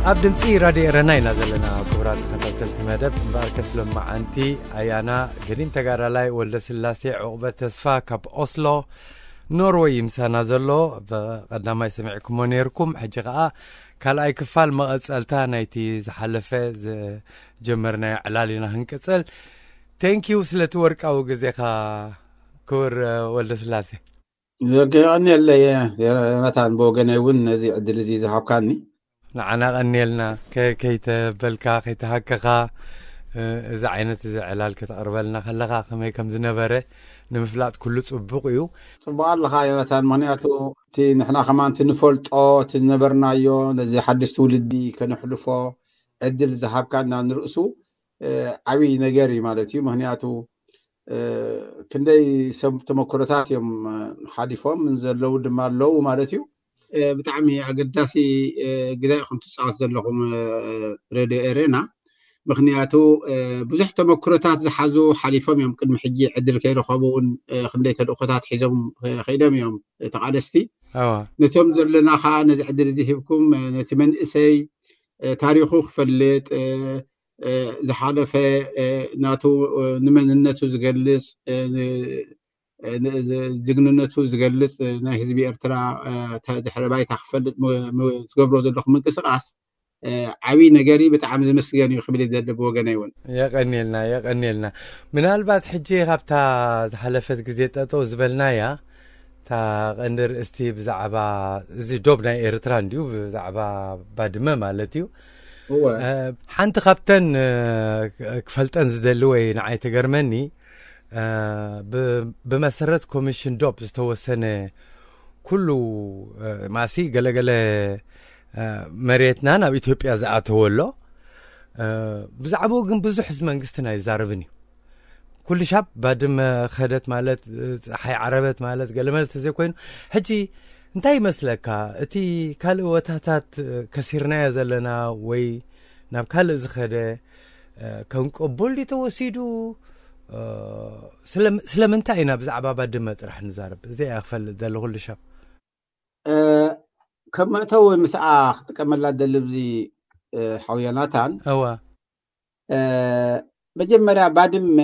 ኣብ ድምፂ ራድዮ ኤረና ኢና ዘለና። ክቡራት ተኸታተልቲ መደብ እምበኣርከስ ሎማዓንቲ ኣያና ገዲም ተጋዳላይ ወልደ ስላሴ ዕቑበት ተስፋ ካብ ኦስሎ ኖርወይ ምሳና ዘሎ። ብቐዳማይ ሰሚዕኩሞ ነይርኩም፣ ሕጂ ከዓ ካልኣይ ክፋል መቐፀልታ ናይቲ ዝሓለፈ ዝጀመርናዮ ዕላል ኢና ክንቅፅል። ቴንኪዩ ስለቲ ወርቃዊ ግዜኻ ክቡር ወልደ ስላሴ። የቐንየለይ ዮናታን፣ ብወገነይ እውን ነዚ ዕድል እዚ ዝሃብካኒ። ንዓና ቀንየልና። ከይተበልካ ከይተሃከኻ እዚ ዓይነት እዚ ዕላል ከተቕርበልና ከለኻ ከመይ ከም ዝነበረ ንምፍላጥ ኩሉ ጽቡቕ እዩ። ጽቡቕ ኣለኻ ዮናታን፣ ምኽንያቱ እቲ ንሕና ከማን እቲ ንፈልጦ እቲ ዝነበርናዮ ነዚ ሓድሽ ትውልዲ ከነሕልፎ ዕድል ዝሃብካና ንርእሱ ዓብዪ ነገር እዩ ማለት እዩ። ምኽንያቱ ክንደይ ሰብ ተመክሮታት እዮም ሓሊፎም ዘለዉ ድማ ኣለዉ ማለት እዩ። ብጣዕሚ ኣገዳሲ ግደ ኢኹም ትፃወት ዘለኹም ሬድዮ ኤሬና። ምኽንያቱ ብዙሕ ተመክሮታት ዝሓዙ ሓሊፎም እዮም። ቅድሚ ሕጂ ዕድል ከይረኸቡ እውን ክንደይ ተልእኮታት ሒዞም ከይዶም እዮም ተቓለስቲ። ነቶም ዘለና ከዓ ነዚ ዕድል እዚ ሂብኩም ነቲ መንእሰይ ታሪኹ ክፈልጥ ዝሓለፈ ናቱ ንመንነቱ ዝገልፅ ጅግንነቱ ዝገልፅ ናይ ህዝቢ ኤርትራ ድሕረ ባይታ ክፈልጥ ዝገብሮ ዘለኹም ምንቅስቃስ ዓብዪ ነገር እዩ። ብጣዕሚ ዝምስገን እዩ ክብል ይደሊ ብወገነይ እውን። የቀንየልና የቀንየልና። ምናልባት ሕጂ ካብታ ዝሓለፈት ግዜ ጠጠው ዝበልናያ እታ ቀንዲ ርእስቲ ብዛዕባ እዚ ዶብ ናይ ኤርትራ እንድዩ ብዛዕባ ባድመ ማለት እዩ። ሓንቲ ካብተን ክፈልጠን ዝደሊ ወይ ንዓይ ትገርመኒ ብመሰረት ኮሚሽን ዶብ ዝተወሰነ ኩሉ ማሲ ገለገለ መሬትና ናብ ኢትዮጵያ ዝኣተወ ኣሎ። ብዛዕባኡ ግን ብዙሕ እዚ መንግስትና ኣይዛረብን እዩ። ኩሉ ሻብ ባድመ ከደት ማለት ፀሓይ ዓረበት ማለት ገለመለ ተዘይኮይኑ፣ ሕጂ እንታይ ይመስለካ እቲ ካልእ ቦታታት ከሲርናዮ ዘለና ወይ ናብ ካልእ ዝኸደ ከም ቅቡል ድዩ ተወሲዱ? ስለምንታይ ኢና ብዛዕባ ባድመ ጥራሕ ንዛረብ? እዚ እያ ክፈልጥ ዘለ ኩሉ ሻብ። ከም መእተዊ ምስኣ ክጥቀመላ ደሊ ብዚ ሓው ዮናታን። እዋ መጀመርያ ባድመ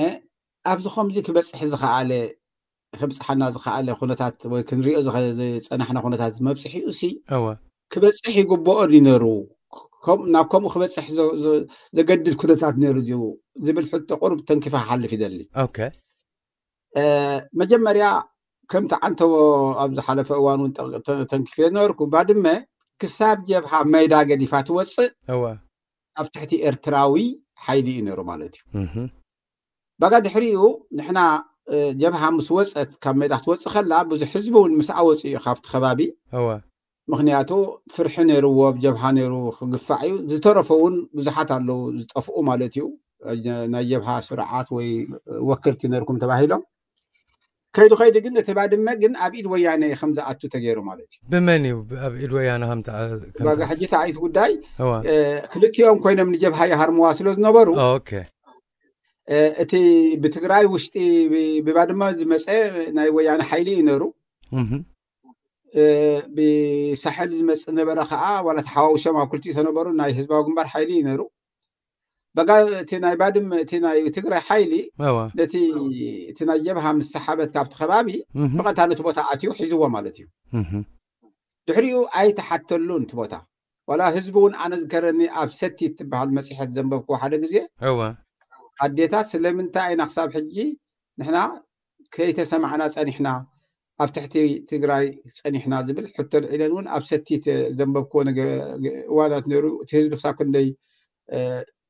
ኣብዚ ከምዚ ክበፅሕ ዝኸኣለ ክብፅሓና ዝኸኣለ ኩነታት ወይ ክንሪኦ ዝጸናሕና ኩነታት መብፅሒኡ ሲ እወ ክበፅሕ ይግብኦ ድዩ ነሩ? ከም- ናብ ከምኡ ክበፅሕ ዘ- ዘ- ዘገድድ ኩነታት ነሩ ድዩ ዝብል ሕቶ ቁሩብ ተንኪፋ ክሓልፍ ይደሊ። ኦኬ። እ፣ መጀመርያ ከምቲ ዓንተቦ ኣብ ዝሓለፈ እዋን እውን ጠ- ተ- ተንኪፈ ነበርኩ፣ ባድመ ክሳብ ጀብሃ ሜዳ ገዲፋ ትወፅእ እወ ኣብ ትሕቲ ኤርትራዊ ሓይሊ እዩ ነሩ ማለት እዩ። እህ። ባጋ ድሕሪኡ ንሕና ጀብሃ ምስ ወፀት ካብ ሜዳ ክትወፅእ ከላ ብዙሕ ህዝቢ እውን ምስኣ ወፂኡ እዩ ካብቲ ከባቢ። እወ። ምክንያቱ ፍርሒ ነይርዎ፣ ብ ጀብሃ ነይሩ ክግፋዕ እዩ። ዝተረፈ እውን ብዙሓት ኣለዉ ዝጠፍኡ ማለት እዩ። ናይ ጀብሃ ስርዓት ወይ ወክልቲ ነርኩም ተባሂሎም ከይዱ ከይዱ ግን እቲ ባድመ ግን ኣብ ኢድ ወያነ ከም ዝኣቱ ተገይሩ ማለት እዩ። ብመን እዩ ኣብ ኢድ ወያነ ከም ሕጂ ተኣይት ጉዳይ ክልቲኦም ኮይኖም ንጀብሃ ይሃርምዋ ስለ ዝነበሩ ኦኬ እቲ ብትግራይ ውሽጢ ብባድመ ዝመፀ ናይ ወያነ ሓይሊ እዩ ነሩ። ብሳሕል ዝመፅ ነበረ ከዓ ዋላ ተሓዋውሶም ኣብ ክልቲኡ ተነበሩ ናይ ህዝባዊ ግንባር ሓይሊ እዩ ነሩ። በጋ እቲ ናይ ባድመ እቲ ናይ ትግራይ ሓይሊ ነቲ እቲ ናይ ጀብሃ ምስ ሰሓበት ካብቲ ከባቢ ብቐጥታ ነቲ ቦታ ኣትዩ ሒዝዎ ማለት እዩ። ድሕሪኡ ኣይተሓተሉን እቲ ቦታ። ዋላ ህዝቢ እውን ኣነ ዝከረኒ ኣብ ሰቲት ትበሃል መፅሔት ዘንበብክዎ ሓደ ግዜ እወ ኣዴታት ስለምንታይ ኢና ክሳብ ሕጂ ንሕና ከይተሰማዕና ፀኒሕና ኣብ ትሕቲ ትግራይ ፀኒሕና ዝብል ሕቶ ልዒለን እውን ኣብ ሰቲት ዘንበብክዎ ነገ- እዋናት ነይሩ። እቲ ህዝቢ ክሳብ ክንደይ እ፣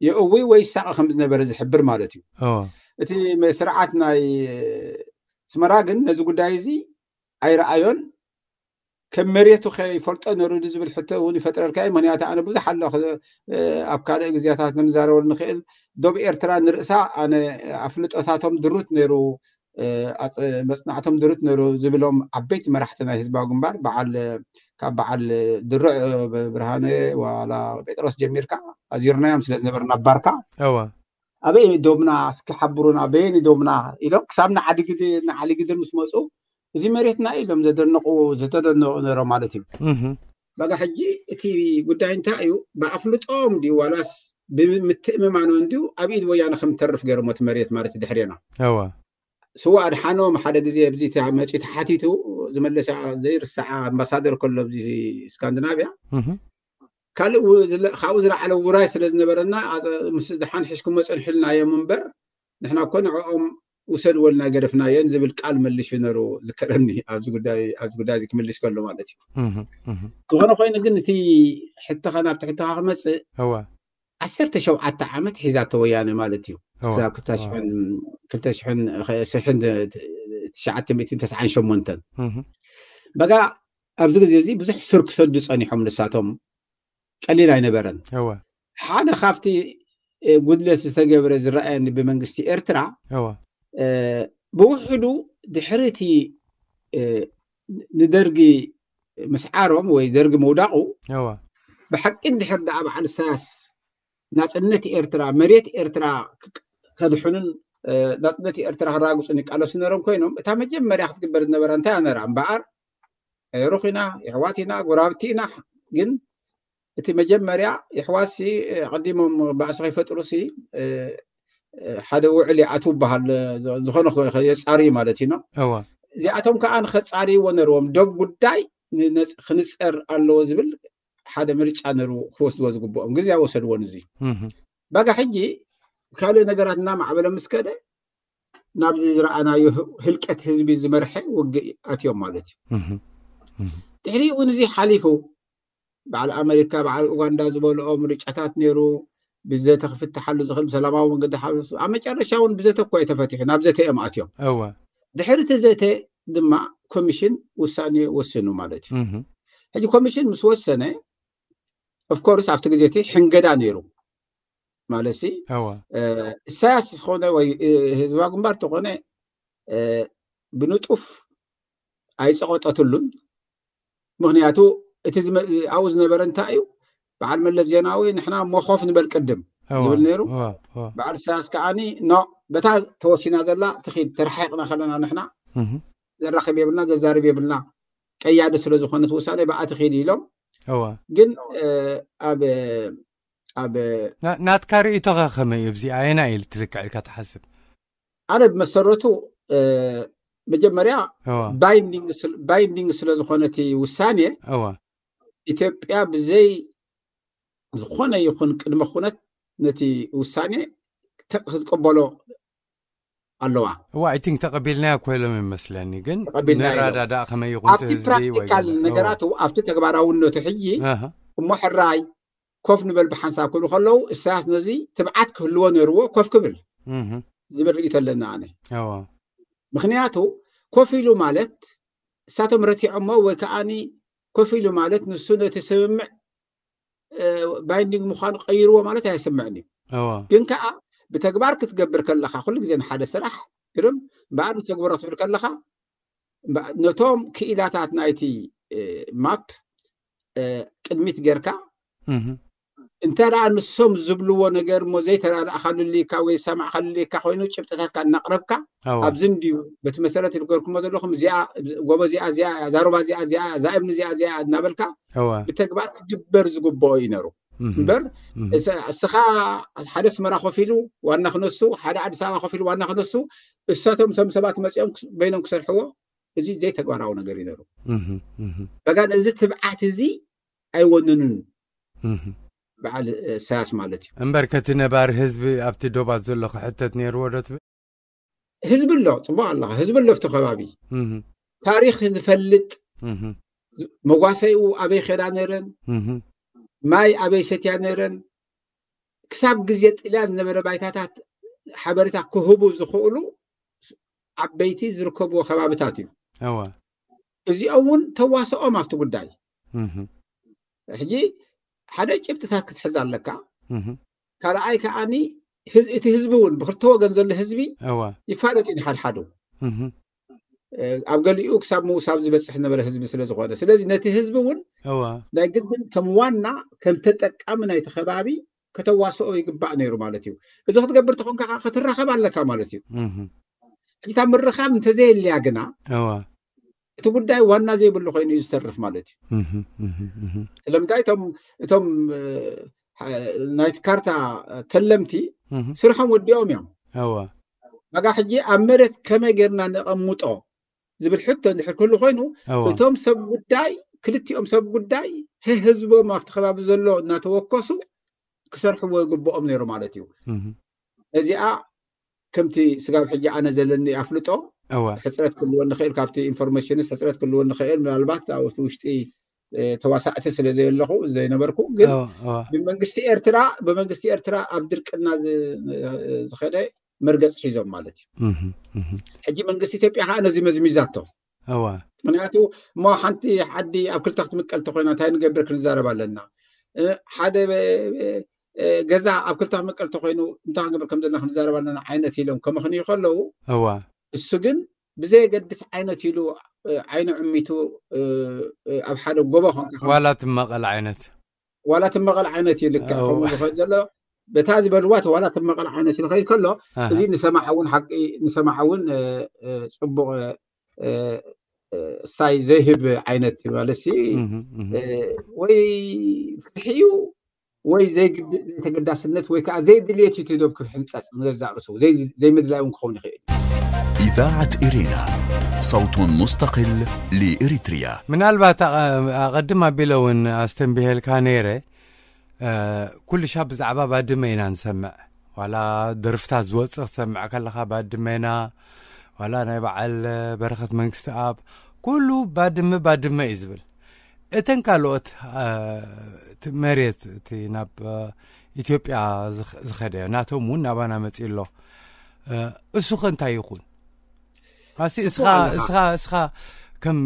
የእዊ ወይ ይሳቐ ከም ዝነበረ ዝሕብር ማለት እዩ። እቲ ስርዓት ናይ ኣስመራ ግን ነዚ ጉዳይ እዚ ኣይረኣዮን። ከም መሬቱ ከይፈልጦ ነሩ ዝብል ሕቶ እውን ይፈጥረልካ እዩ። ምክንያቱ ኣነ ብዙሕ ኣሎ ኣብ ካልእ ግዜታት ክንዛረበሉ ንኽእል። ዶብ ኤርትራ ንርእሳ ኣነ ኣፍልጦታቶም ድሩት ነሩ፣ መጽናዕቶም ድሩት ነሩ ዝብሎም ዓበይቲ መራሕቲ ናይ ህዝባዊ ግንባር በዓል ካብ በዓል ድሩዕ ብርሃነ ዋላ ጴጥሮስ ጀሚርካ ኣዚርናዮም ስለ ዝነበርና ባርካ ኣበይ ዶብና እስኪ ሓብሩና በየን ዶብና ኢሎም ክሳብ ንዓሊግድር ምስ መፁ እዚ መሬትና ኢሎም ዘደነቁ ዝተደነቁ ነሮም ማለት እዩ። በቃ ሕጂ እቲ ጉዳይ እንታይ እዩ? ብኣፍልጦም ድዩ ዋላስ ብምትእምማኖም ድዩ ኣብ ኢድ ወያነ ከም ተርፍ ገይሮም እቲ መሬት ማለት ድሕሬና ስዋ ኣድሓኖም ሓደ ግዜ ኣብዚ መፂ ተሓቲቱ ዝመለሰ ዘይርሳዓ ኣምባሳደር ከሎ ኣብዚ ስካንዲናቪያ ካልእ ካብኡ ዝለዓለ ውራይ ስለ ዝነበረና ምስ ድሓን ሒዝኩሞ ፀንሕልና እዮም እምበር ንሕና እኮ ንዕኦም ውሰድወልና ገደፍናየን ዝብል ቃል መሊሹ ነሩ ዝከረኒ ኣብዚ ጉዳይ ኣብዚ ክምልሽ ከሎ ማለት እዩ። ዝኾነ ኮይኑ ግን እቲ ሕተኻ ናብቲ ሕተኻ ክመፅእ ዓሰርተ ሸውዓተ ዓመት ሒዛቶ ወያነ ማለት እዩ። ክሳብ ክልተ ሽሕን ትሽዓተ ሚእትን ተስዓን ሸሞንተን በጋ ኣብዚ ግዜ እዚ ብዙሕ ሱር ክሰዱ ጸኒሖም ንሳቶም ቀሊል ኣይነበረን። ሓደ ካብቲ ጉድለት ዝተገብረ ዝረኣየኒ ብመንግስቲ ኤርትራ ብውሕዱ ድሕሪ እቲ ንደርጊ ምስዓሮም ወይ ደርጊ ምውዳቑ ብሓቂ እንድሕር ደኣ በዓል ኢሳያስ ናጽነት ኤርትራ መሬት ኤርትራ ከድሕኑን ናጽነት ኤርትራ ክራግጹን ይቃለሱ ነሮም ኮይኖም እታ መጀመርያ ክትግበር ዝነበራ እንታይ ነራ እምበኣር ሩኽ ኢና የሕዋት ኢና ጎራብቲ ኢና ግን እቲ መጀመርያ የሕዋትሲ ቀዲሞም ባእሲ ከይፈጥሩሲ ሓደ ውዕል ይኣትዉ በሃል ዝኾነ የጻሪ ማለት እዩ እዚኣቶም ከዓ ንኸጻርይዎ ነርዎም ደብ ጉዳይ ክንጸር ኣለዎ ዝብል ሓደ ምርጫ ነሩ ክወስድዎ ዝግብኦም ግዜ ወሰድዎን እዚ በጋ ሕጂ ካልእ ነገራት እናማዕበለ ምስ ከደ ናብዚ ዝረኣናዮ ህልቀት ህዝቢ ዝመርሐ ውግእ ኣትዮም ማለት እዩ ድሕሪ እውን እዚ ሓሊፉ በዓል ኣሜሪካ በዓል ኡጋንዳ ዝበልኦ ምርጫታት ነይሩ ብዘተ ክፍትሓሉ ዝኽእል ብሰላማዊ መንገዲ ሓ ኣብ መጨረሻ እውን ብዘተ እኮ ተፈቲሑ ናብ ዘተ እዮም ኣትዮም ድሕሪ እቲ ዘተ ድማ ኮሚሽን ውሳኔ ወስኑ ማለት እዩ ሕጂ ኮሚሽን ምስ ወሰነ ኦፍኮርስ ኣብቲ ግዜ እቲ ሕንገዳ ነይሩ ማለት ሲ እሳያስ ዝኾነ ወይ ህዝባዊ ግንባር ተኾነ ብንጡፍ ኣይፀቆጠትሉን ምክንያቱ እቲ ኣብኡ ዝነበረ እንታይ እዩ በዓል መለስ ዜናዊ ንሕና መኮፍ ንበል ቅድም ዝብል ነይሩ በዓል ኢሳያስ ከዓኒ ኖ በታ ተወሲና ዘላ ትኺድ ተረሓይቕና ከለና ንሕና ዘራኽብ የብልና ዘዛርብ የብልና ቀያዲ ስለ ዝኾነት ውሳኔ ብኣ ትኺድ ኢሎም ግን ኣብ ኣብ ናትካ ርእይቶኸ ከመይ እዩ ኣብዚ ኣየና እዩ ትልክዕ ኢልካ ትሓስብ ኣነ ብመሰረቱ መጀመርያ ባይንዲንግ ስለ ዝኾነ እቲ ውሳኔ ኢትዮጵያ ብዘይ ዝኾነ ይኹን ቅድመ ኩነት ነቲ ውሳኔ ክትቀበሎ ኣለዋ እዋ I think ተቐቢልናዮ ኮይሎም ይመስለኒ ግን ንራዳዳእ ከመይ ይኹን ኣብቲ ፕራክቲካል ነገራቱ ኣብቲ ተግባራውነቱ ሕጂ እሞ ሕራይ ኮፍ ንበል ብሓንሳብ ክብሉ ከለዉ እሳያስ ነዚ ትብዓት ክህልዎ ነይርዎ ኮፍ ክብል ዝብል ርእይቶ ኣለና ኣነ ምክንያቱ ኮፍ ኢሉ ማለት እሳቶም ረቲዖሞ ወይ ከዓኒ ኮፍ ኢሉ ማለት ንሱ ነቲ ስምምዕ ባይንዲንግ ምዃኑ ቀይርዎ ማለት ኣይስምዕን እዩ ግን ከዓ ብተግባር ክትገብር ከለካ ኩሉ ግዜ ንሓደ ስራሕ ግርም በኣር ንተግብሮ ክትብል ከለካ ነቶም ክኢላታት ናይቲ ማፕ ቅድሚት ጌርካ እንተ ደኣ ንሶም ዝብልዎ ነገር እሞ ዘይተረዳእካሉ ልካ ወይ ዝሰማዕካሉ ልካ ኮይኑ ጭብጥታትካ እናቕረብካ ኣብዚ እንድዩ በቲ መሰረት ዝገርኩሞ ዘለኹም እዚኣ ጎቦ እዚኣ እዚኣ እያ ዛሩባ እዚኣ እዚኣ እያ እዛ እምኒ እዚኣ እዚኣ እያ እናበልካ ብተግባር ክግበር ዝግብኦ እዩ ነሩ እምበር እስኻ ሓደ ኣስመራ ኮፍ ኢሉ ዋና ክነሱ ሓደ ኣዲስ ኣበባ ኮፍ ኢሉ ዋና ክነሱ እሳቶም እቶም ሰባት መፂኦም በይኖም ክሰርሕዎ እዚ ዘይተግባራዊ ነገር እዩ ነሩ በጋ ነዚ ትብዓት እዚ ኣይወነኑን በዓል ኢሳያስ ማለት እዩ እምበር ከቲ ነባሪ ህዝቢ ኣብቲ ዶባት ዘሎ ክሕተት ነይርዎ ዶ ትብል ህዝቢ ኣሎ ፅቡቅ ኣለካ ህዝቢ ኣሎ ኣብቲ ከባቢ ታሪክ ዝፈልጥ መጓሰይኡ ኣበይ ከዳ ነይረን ማይ ኣበይ ሰትያ ነይረን ክሳብ ግዜ ጥልያን ዝነበረ ባይታታት ሓበሬታ ክህቡ ዝኽእሉ ዓበይቲ ዝርከብዎ ከባብታት እዩ። እዚኦም እውን ተዋስኦም ኣብቲ ጉዳይ። ሕጂ ሓደ ጭብጥታት ክትሕዝ ኣለካ። ካልኣይ ከዓኒ እቲ ህዝቢ እውን ብክልተ ወገን ዘሎ ህዝቢ ይፋለጥ እዩ ንሓድሓዱ። ኣብ ገሊኡ ክሳብ ምውሳብ ዝበፅሕ ነበረ ህዝቢ ስለ ዝኾነ፣ ስለዚ ነቲ ህዝቢ እውን ናይ ግድን ከም ዋና ከም ተጠቃሚ ናይቲ ከባቢ ከተዋስኦ ይግባእ ነይሩ ማለት እዩ። እዚ ክትገብር ተኾንካ ከዓ ክትራኸብ ኣለካ ማለት እዩ። ሕጂ እታ ምርኻብ እንተዘየልያ ግና እቲ ጉዳይ ዋና ዘይብሉ ኮይኑ እዩ ዝተርፍ ማለት እዩ። ስለምንታይ እቶም እቶም ናይቲ ካርታ ተለምቲ ስርሖም ወዲኦም እዮም። በቃ ሕጂ ኣብ መሬት ከመይ ጌርና ነቐምጦ ዝብል ሕቶ እንድሕር ክህሉ ኮይኑ፣ እቶም ሰብ ጉዳይ፣ ክልቲኦም ሰብ ጉዳይ ህዝቦም ኣብቲ ከባቢ ዘሎ እናተወከሱ ክሰርሕዎ ይግብኦም ነይሩ ማለት እዩ። እዚኣ ከምቲ ስጋብ ሕጂ ኣነ ዘለኒ ኣፍልጦ ሕፅረት ክልወን ንኽእል፣ ካብቲ ኢንፎርሜሽንስ ሕፅረት ክልወን ንኽእል፣ ምናልባት ኣብቲ ውሽጢ ተዋሳእቲ ስለ ዘየለኹ ዘይነበርኩ፣ ግን ብመንግስቲ ኤርትራ ብመንግስቲ ኤርትራ ኣብ ድርቅና ዝኸደ መርገፂ ሒዞም ማለት እዩ። ሕጂ መንግስቲ ኢትዮጵያ ከዓ ነዚ መዝሚዛቶ። ምክንያቱ እሞ ሓንቲ ሓዲ ኣብ ክልተ ክትምቀል ተኮይና እንታይ ንገብር ክንዛረብ ኣለና። ሓደ ገዛ ኣብ ክልተ ክምቀል ተኮይኑ እንታይ ክንገብር ከም ዘለና ክንዛረብ ኣለና ዓይነት ኢሎም ከመኽንዩ ከለዉ፣ እሱ ግን ብዘየገድስ ዓይነት ኢሉ ዓይኑ ዕሚቱ ኣብ ሓደ ጎቦ ኮንካ ዋላ ትመቐል ዓይነት ዋላ ትመቐል ዓይነት እዩ ልክዕ ከምኡ ዝኸድ ዘሎ በታ ዝበልዋ ዋላ ትመቐል ዓይነት እዩ ንኸይድ ከሎ፣ እዚ ንሰማዓ እውን ሓቂ ንሰማዓ እውን ፅቡቅ እታይ ዘይህብ ዓይነት ማለት ወይ ፍርሒ እዩ ወይ ዘይተገዳስነት ወይ ከዓ ዘይድልየት እዩ ዶብ ክሕንፀፅ ንገዛእ ርእሱ ዘይምድላይ እውን ክኸውን ይኽእል። إذاعة إرينا، صوت مستقل لإريتريا. ምናልባት ኣቐድም ኣቢለ እውን ኣስተንቢሄልካ ነይረ። ኩሉ ሻብ ብዛዕባ ባድመ ኢና ንሰምዕ። ዋላ ደርፍታት ዝወፅእ ክትሰምዕ ከለኻ ባድመና፣ ዋላ ናይ በዓል በረኸት መንግስቲ ኣብ ኩሉ ባድመ ባድመ እዩ ዝብል። እተን ካልኦት መሬት እቲ ናብ ኢትዮጵያ ዝኸደ ናቶም እውን ናባና መፂ ኣሎ። እሱ ከ እንታይ ይኹን? ኣሲ እስኻ እስኻ እስኻ ከም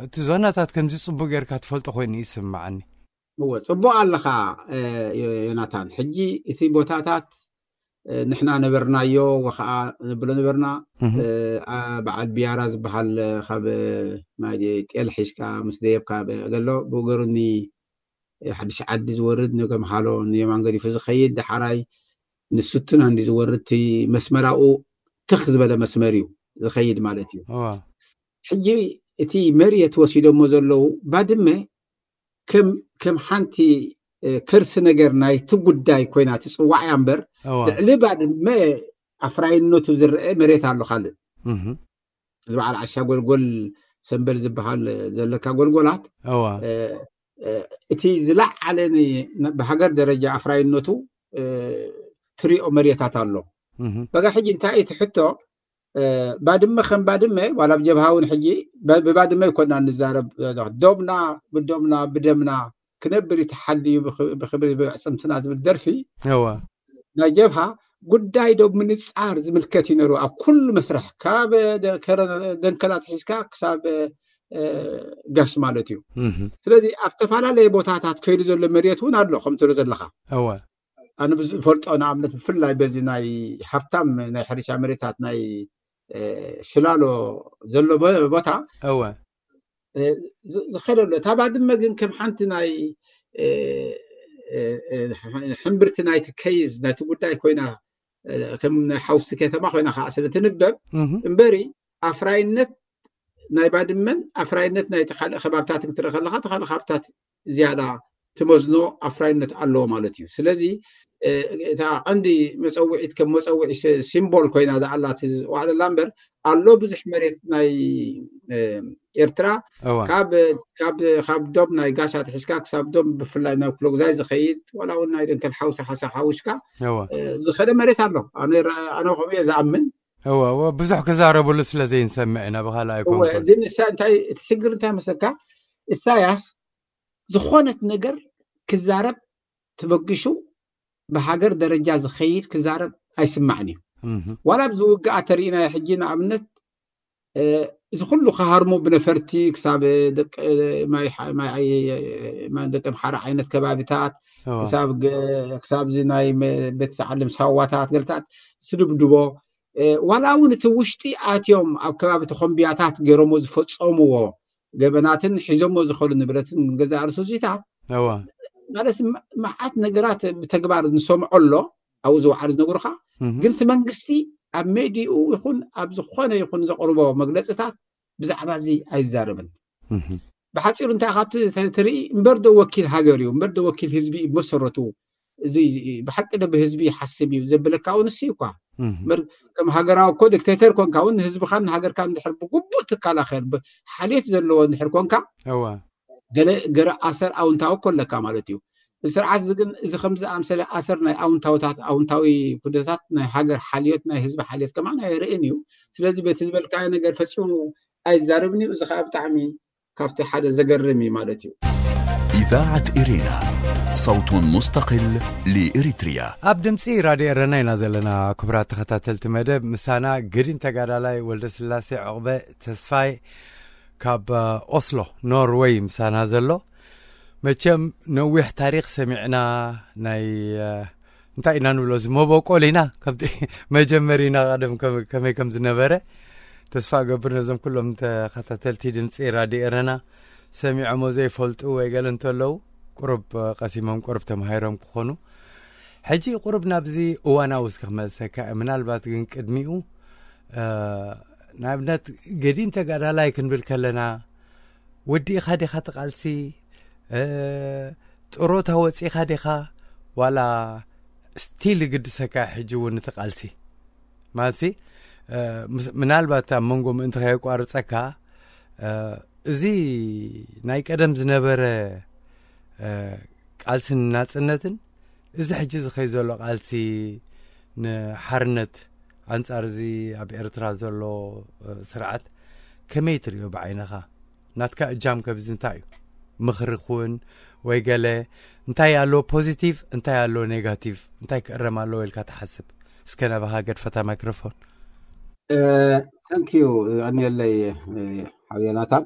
እቲ ዞናታት ከምዚ ፅቡቅ ጌርካ ትፈልጦ ኮይኑ ይስምዓኒ። እወ፣ ጽቡቕ ኣለኻ ዮናታን። ሕጂ እቲ ቦታታት ንሕና ነበርናዮ ወኸዓ ንብሎ ነበርና። በዓል ቢያራ ዝበሃል ካብ ናይ ጤል ሒዝካ ምስ ደየብካ ገሎ ብእገሩ ኒ ሓድሽ ዓዲ ዝወርድ ንገምሃሎ ንየማን ገዲፉ ዝኸይድ ደሓራይ ንስቱና እንዲ ዝወርድ እቲ መስመራኡ ትኽ ዝበለ መስመር እዩ ዝኸይድ ማለት እዩ። ሕጂ እቲ መሬት ወሲዶሞ ዘለዉ ባድመ ከም ከም ሓንቲ ከርሲ ነገር ናይቲ ጉዳይ ኮይና ትፅዋዕ እያ እምበር ልዕሊ ባድመ ኣፍራይነቱ ዝረአ መሬት ኣሎ ካልእ እዚ በዓል ዓሻ ጎልጎል ሰንበል ዝበሃል ዘለካ ጎልጎላት እቲ ዝለዓለ ብሃገር ደረጃ ኣፍራይነቱ ትሪኦ መሬታት ኣሎ በጋ ሕጂ እንታይ እቲ ሕቶ ባድመ ከም ባድመ ዋላ ብጀብሃ እውን ሕጂ ብባድመ ይኮና ንዛረብ ዶብና ብዶብና ብደምና ክነብር ይተሓልዩ ብክብሪ ብዕፅምትና ዝብል ደርፊ ናይ ጀብሃ ጉዳይ ዶ ምንፃር ዝምልከት እዩ ነሩ ኣብ ኩሉ መስርሕ ካብ ደንከላ ትሒዝካ ክሳብ ጋሽ ማለት እዩ ስለዚ ኣብ ዝተፈላለየ ቦታታት ከይዱ ዘሎ መሬት እውን ኣሎ ከም ትብሎ ዘለካ ኣነ ብዝፈልጦ ንኣብነት ብፍላይ በዚ ናይ ሃብታም ናይ ሕርሻ መሬታት ናይ ሽላሎ ዘሎ ቦታ እወ ዝኸደሉ እታ ባድመ ግን ከም ሓንቲ ናይ ሕምብርቲ ናይቲ ከይዝ ናይቲ ጉዳይ ኮይና ከም ናይ ሓውሲ ከተማ ኮይና ከዓ ስለ ትንበብ እምበሪ ኣፍራይነት ናይ ባድመን ኣፍራይነት ናይ ካልእ ከባብታት ክትርኢ ከለካ እቲ ካልእ ከባብታት ዝያዳ ትመዝኖ ኣፍራይነት ኣለዎ ማለት እዩ ስለዚ እታ ቀንዲ መፀውዒት ከም መፀውዒ ሲምቦል ኮይና ዝኣላ ዋዕለላ እምበር ኣሎ ብዙሕ መሬት ናይ ኤርትራ ካብ ዶብ ናይ ጋሻ ትሒዝካ ክሳብ ዶብ ብፍላይ ናብ ክሎግዛይ ዝኸይድ ዋላ እውን ናይ ደንከል ሓውሲ ሓሳ ሓውሽካ ዝኸደ መሬት ኣሎ ኣነ ከምኡ እየ ዝኣምን እወ እወ ብዙሕ ክዛረብሉ ስለ ዘይንሰምዕ ኢና ብካልእ ኣይኮንኩን ግን እሳ እንታይ እቲ ሽግር እንታይ መሰልካ ኢሳያስ ዝኾነት ነገር ክዛረብ ተበግሹ ብሃገር ደረጃ ዝኸይድ ክዛረብ ኣይስማዕን እዩ። ዋላ ኣብዚ ውግኣ ተሪኢናዮ ሕጂ ንኣብነት እዚ ኩሉ ክሃርሙ ብነፈርቲ ክሳብ ደቂ ኣምሓራ ዓይነት ከባቢታት ክሳብ ክሳብዚ ናይ ቤት ዝዓለም ሳዋታት ገልታት ዝድብድቦ ዋላ እውን እቲ ውሽጢ ኣትዮም ኣብ ከባቢ ተኾምቢያታት ገይሮሞ ዝፈፀምዎ ገበናትን ሒዞሞ ዝኸሉ ንብረትን ገዛ ርሱዚታት ማለት መዓት ነገራት ብተግባር ንሰምዖ ኣሎ ኣብኡ ዝወዓሉ ዝነግሩኻ ግን እቲ መንግስቲ ኣብ ሜድኡ ይኹን ኣብ ዝኾነ ይኹን ዘቕርቦ መግለፅታት ብዛዕባ እዚ ኣይዛረብን ብሓፂሩ እንታይ ኢኻ ትርኢ እምበር ዶ ወኪል ሃገር እዩ እምበር ዶ ወኪል ህዝቢ እዩ መሰረቱ እዚ ብሓቂ ዶ ብህዝቢ ይሓስብ እዩ ዘብለካ እውን እሱ እኳ እምበር ከም ሃገራዊ እኮ ዲክቴተር ኮንካ እውን ንህዝብኻን ንሃገርካ እንድሕር ብግቡእ ትከላኸል ሓልዮት ዘለዎ እንድሕር ኮንካ ገለ ገረ ኣሰር ኣውንታዊ እኮ ኣለካ ማለት እዩ ስርዓት እዚ ግን እዚ ከምዚ ኣምሰለ ኣሰር ናይ ኣውንታውታት ኣውንታዊ ኩነታት ናይ ሃገር ሓልዮት ናይ ህዝቢ ሓልዮት ከማን ኣይርእን እዩ ስለዚ በቲ ዝበልካዮ ነገር ፈፂሙ ኣይዛረብን እዩ እዚ ከዓ ብጣዕሚ ካብቲ ሓደ ዘገርም እዩ ማለት እዩ إذاعة إرينا صوت مستقل لإريتريا ኣብ ድምፂ ራድዮ ኤረና ኢና ዘለና ክቡራት ተኸታተልቲ መደብ ምሳና ገዲም ተጋዳላይ ወልደ ስላሴ ዕቕበ ተስፋይ ካብ ኦስሎ ኖርወይ ምሳና ዘሎ መቸም ነዊሕ ታሪክ ሰሚዕና ናይ እንታይ ኢና ንብሎ እዚ መበቆል ኢና ከምቲ መጀመሪና ቀደም ከመይ ከም ዝነበረ ተስፋ እገብር ነዞም ኩሎም ተኸታተልቲ ድምፂ ራድዮ ኤረና ሰሚዖሞ ዘይፈልጡ ወይ ገለ እንተለዉ ቁሩብ ቀሲሞም ቁሩብ ተማሂሮም ክኾኑ ሕጂ ቁሩብ ናብዚ እዋናዊ እስከ ክመልሰካ ምናልባት ግን ቅድሚኡ ንኣብነት ገዲም ተጋዳላይ ክንብል ከለና ወዲእኻ ዲኻ ትቃልሲ ጥሮታ ወፂኻ ዲኻ ዋላ ስቲል ይግድሰካ ሕጂ እውን እቲ ቃልሲ ማለት ምናልባት ኣብ መንጎ ምእንቲ ከየቋርፀካ እዚ ናይ ቀደም ዝነበረ ቃልስን ናፅነትን እዚ ሕጂ ዝኸይ ዘሎ ቃልሲ ንሓርነት ኣንፃር እዚ ኣብ ኤርትራ ዘሎ ስርዓት ከመይ ትሪኦ ብዓይንኻ ናትካ እጃም ከብዚ እንታይ እዩ ምኽሪ ኩን ወይ ገለ እንታይ ኣሎ ፖዚቲቭ እንታይ ኣሎ ኔጋቲቭ እንታይ ክእረም ኣለዎ ኢልካ ትሓስብ እስከ ናባኻ ገድፈታ ማይክሮፎን ታንኪዩ ኣንየለይ ሓው ዮናታን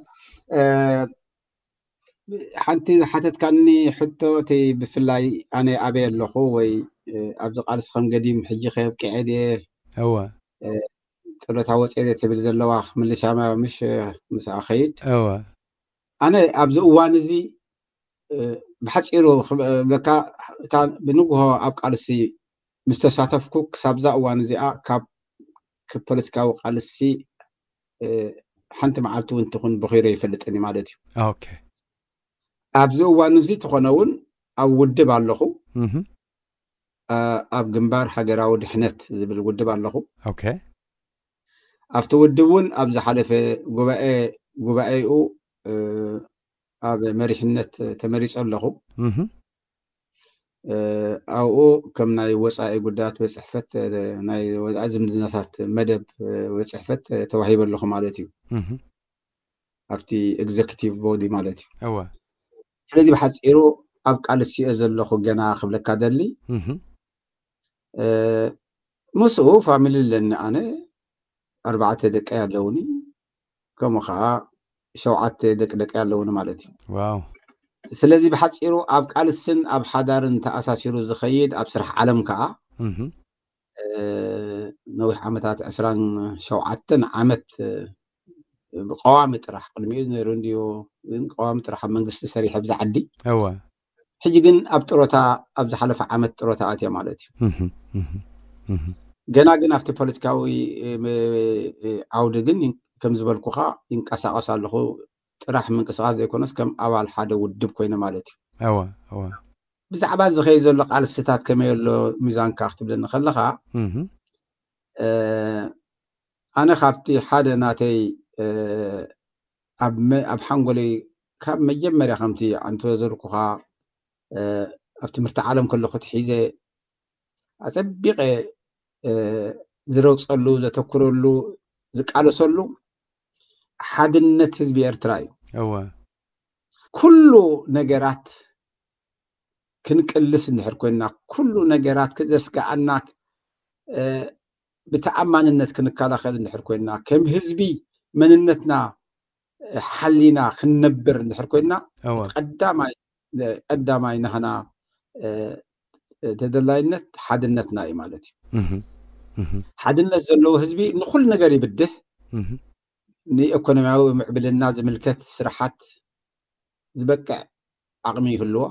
ሓንቲ ዝሓተትካኒ ሕቶ እቲ ብፍላይ ኣነ ኣበይ ኣለኹ ወይ ኣብዚ ቃልሲ ከም ገዲም ሕጂ ከየብቅዐ ድየ እወ ጥሮታ ወፅየ ትብል ዘለዋ ምልሻማ ምሽ ምስኣ ከይድ እወ ኣነ ኣብዚ እዋን እዚ ብሓፂሩ ክብለካ እታ ብንግሆ ኣብ ቃልሲ ምስ ተሳተፍኩ ክሳብዛ እዋን እዚኣ ካብ ፖለቲካዊ ቃልሲ ሓንቲ መዓልቲ እውን ትኹን በኺሮ ይፈልጥን ማለት እዩ ኦኬ ኣብዚ እዋን እዚ ትኾነ እውን ኣብ ውድብ ኣለኹ እህ ኣብ ግንባር ሃገራዊ ድሕነት ዝብል ውድብ ኣለኹ ኦኬ ኣብቲ ውድብ እውን ኣብ ዝሓለፈ ጉባኤ ጉባኤኡ ኣብ መሪሕነት ተመሪፀ ኣለኹ እህ ኣብኡ ከም ናይ ወፃኢ ጉዳያት ቤት ፅሕፈት ናይ ወፃኢ ዝምድናታት መደብ ቤት ፅሕፈት ተዋሂበ ኣለኹ ማለት እዩ እህ ኣብቲ ኤግዘኪቲቭ ቦዲ ማለት እዩ እወ ስለዚ ብሓፂሩ ኣብ ቃልሲ እየ ዘለኹ ገና ክብለካ ደሊ እህ ምስኡ ፋሚሊ ኣለኒ ኣነ ኣርባዕተ ደቂ ኣለውኒ ከምኡ ከዓ ሸውዓተ ደቂ ደቂ ኣለውኒ ማለት እዩ ዋው ስለዚ ብሓፂሩ ኣብ ቃልስን ኣብ ሓዳርን ተኣሳሲሩ ዝኸይድ ኣብ ስራሕ ዓለም ከዓ እህ ነዊሕ ዓመታት ዕስራን ሸውዓተን ዓመት ብቀዋሚ ጥራሕ ቅድሚኡ ነይሩ እንድዩ ግን ቀዋሚ ጥራሕ ኣብ መንግስቲ ሰሪሐ ብዛ ዓዲ እወ ሕጂ ግን ኣብ ጥሮታ ኣብ ዝሓለፈ ዓመት ጥሮታ ኣትየ ማለት እዩ እህ እህ እህ ገና ግን ኣብቲ ፖለቲካዊ ም- ዓውዲ ግን ከም ዝበልኩኻ ይንቀሳቀስ ኣለኹ ጥራሕ ምንቅስቃስ ዘይኮነስ ከም ኣባል ሓደ ውድብ ኮይነ ማለት እዩ እወ እወ ብዛዕባ ዝኸይ ዘሎ ቃልስታት ከመይ ኣሎ ሚዛንካ ክትብለኒ ከለኻ እህ እ፣ ኣነ ካብቲ ሓደ ናተይ እ፣ ኣብ መ- ኣብ ሓንጎለይ ካብ መጀመርያ ከምቲ ኣንተ ዘርኩኻ እ፣ ኣብ ትምህርቲ ዓለም ከለኹ ትሒዘ ኣፀቢቐ እ፣ ዝረግፀሉ ዘተኩረሉ ዝቃለሰሉ ሓድነት ህዝቢ ኤርትራ እዩ እወ ኩሉ ነገራት ክንቅልስ እንድሕር ኮይና፣ ኩሉ ነገራት ዘስጋኣና ብተኣማንነት ክንከላኸል እንድሕር ኮይና፣ ከም ህዝቢ መንነትና ሓሊና ክንነብር እንድሕር ኮይና፣ ቀዳማይ ቀዳማይ ናህና ተደላይነት ሓድነትና እዩ ማለት እዩ። ሓድነት ዘለዎ ህዝቢ ንኩሉ ነገር ይብድህ። ንኢኮኖሚያዊ ምዕብልና ዝምልከት ስራሓት ዝበቅዕ ዓቕሚ ይህልዎ።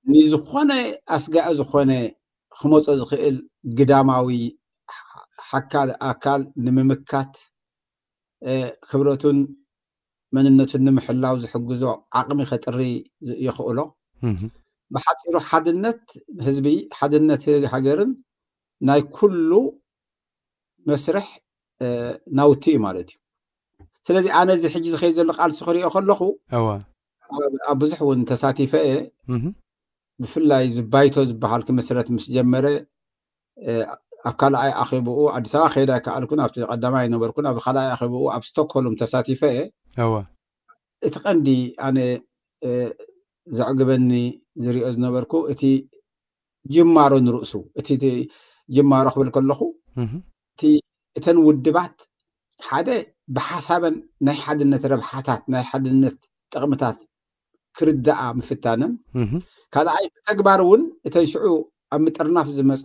ንዝኾነ ኣስጋኢ ዝኾነ ክመጾ ዝኽእል ግዳማዊ ሓካል ኣካል ንምምካት ክብረቱን መንነቱን ንምሕላው ዝሕግዞ ዓቕሚ ከጥሪ የኽእሎ። ብሓፂሩ ሓድነት ህዝቢ፣ ሓድነት ሃገርን ናይ ኩሉ መስርሕ ናውቲ እዩ ማለት እዩ። ስለዚ ኣነ እዚ ሕጂ ዝኸይድ ዘሎ ቃልሲ ክሪኦ ከለኹ ኣብ ብዙሕ እውን ተሳቲፈ እየ። ብፍላይ ዝባይቶ ዝበሃል ክምስረት ምስ ጀመረ ኣብ ካልኣይ ኣኼብኡ ኣዲስ ኣበባ ከይዳ ኣይከኣልኩን፣ ኣብቲ ቀዳማይ ኣይነበርኩን። ኣብ ካልኣይ ኣኼብኡ ኣብ ስቶክሆልም ተሳቲፈ እየ። እቲ ቀንዲ ኣነ ዘዕግበኒ ዝሪኦ ዝነበርኩ እቲ ጅማሮ ንርእሱ፣ እቲ ጅማሮ ክብል ከለኹ እቲ እተን ውድባት ሓደ ብሓሳበን ናይ ሓድነት ረብሓታት ናይ ሓድነት ጥቕምታት ክርዳኣ ምፍታነን፣ ካልኣይ ብተግባር እውን እተን ሽዑ ኣብ ምጥርናፍ ዝመፃ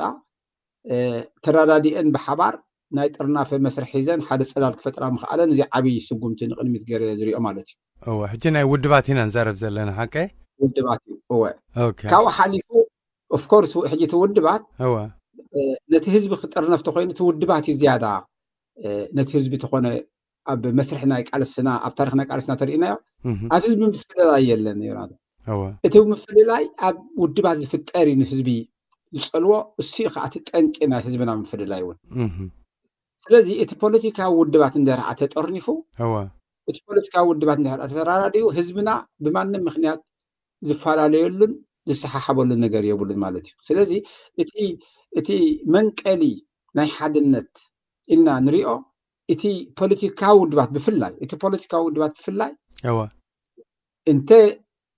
ተረዳዲአን ብሓባር ናይ ጥርናፈ መስርሕ ሒዘን ሓደ ፅላል ክፈጥራ ምኽኣለን እዚ ዓብዪ ስጉምቲ ንቕድሚት ገይረ ዝሪኦ ማለት እዩ። እወ፣ ሕጂ ናይ ውድባት ኢና ንዛረብ ዘለና ሓቀ? ውድባት እዩ። እወ። ካብኡ ሓሊፉ ኦፍኮርስ ሕጂ እቲ ውድባት ነቲ ህዝቢ ክጥርነፍ ተኮይኑ እቲ ውድባት እዩ ዝያዳ ነቲ ህዝቢ ተኾነ ኣብ መስርሕ ናይ ቃልስና ኣብ ታሪክ ናይ ቃልስና ተርእናዮ ኣብ ህዝቢ ምፍልላይ የለን። እቲ ምፍልላይ ኣብ ውድባት ዝፍጠር እዩ ንህዝቢ ዝፀልዎ። እሱ ከዓ እቲ ጠንቂ ናይ ህዝብና ምፍልላይ እውን። ስለዚ እቲ ፖለቲካዊ ውድባት እንደርኣ ተጠርኒፉ እቲ ፖለቲካዊ ውድባት እንድሕር ተተራዳዲኡ ህዝብና ብማንም ምክንያት ዝፈላለየሉን ዝሰሓሓበሉን ነገር የብሉን ማለት እዩ። ስለዚ እቲ እቲ መንቀሊ ናይ ሓድነት ኢልና ንሪኦ እቲ ፖለቲካዊ ውድባት ብፍላይ እቲ ፖለቲካዊ ውድባት ብፍላይ እወ እንተ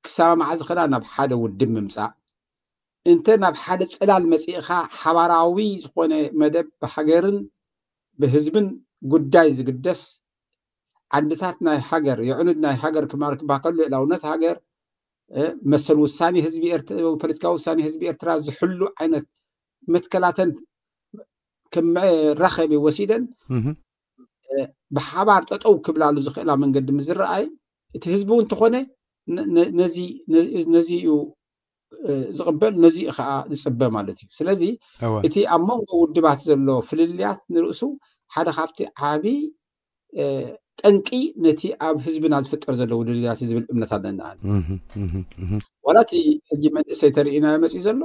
ክሳማማዕ ዝኽእላ ናብ ሓደ ውድብ ምምፃእ እንተ ናብ ሓደ ፅላል መፂእኻ ሓባራዊ ዝኾነ መደብ ብሃገርን ብህዝብን ጉዳይ ዝግደስ ዓድታት ናይ ሃገር የዕኑድ ናይ ሃገር ክማር ክባከሉ ልእላውነት ሃገር መሰል ውሳኔ ህዝቢ ኤርትራ ፖለቲካዊ ውሳኔ ህዝቢ ኤርትራ ዝሕሉ ዓይነት መትከላተን ከም መራኸቢ ወሲደን ብሓባር ጠጠው ክብላሉ ዝኽእላ መንገዲ ምዝረኣይ እቲ ህዝቢ እውን እንተኾነ ነዚ እዩ ዝቕበል ነዚ ከዓ ዝፅበ ማለት እዩ። ስለዚ እቲ ኣብ መንጎ ውድባት ዘሎ ፍልልያት ንርእሱ ሓደ ካብቲ ዓብዪ ጠንቂ ነቲ ኣብ ህዝብና ዝፍጠር ዘሎ ውድልያት ዝብል እምነት ኣለና። ዋላ እቲ ሕጂ መንእሰይ ተርእና መፅኡ ዘሎ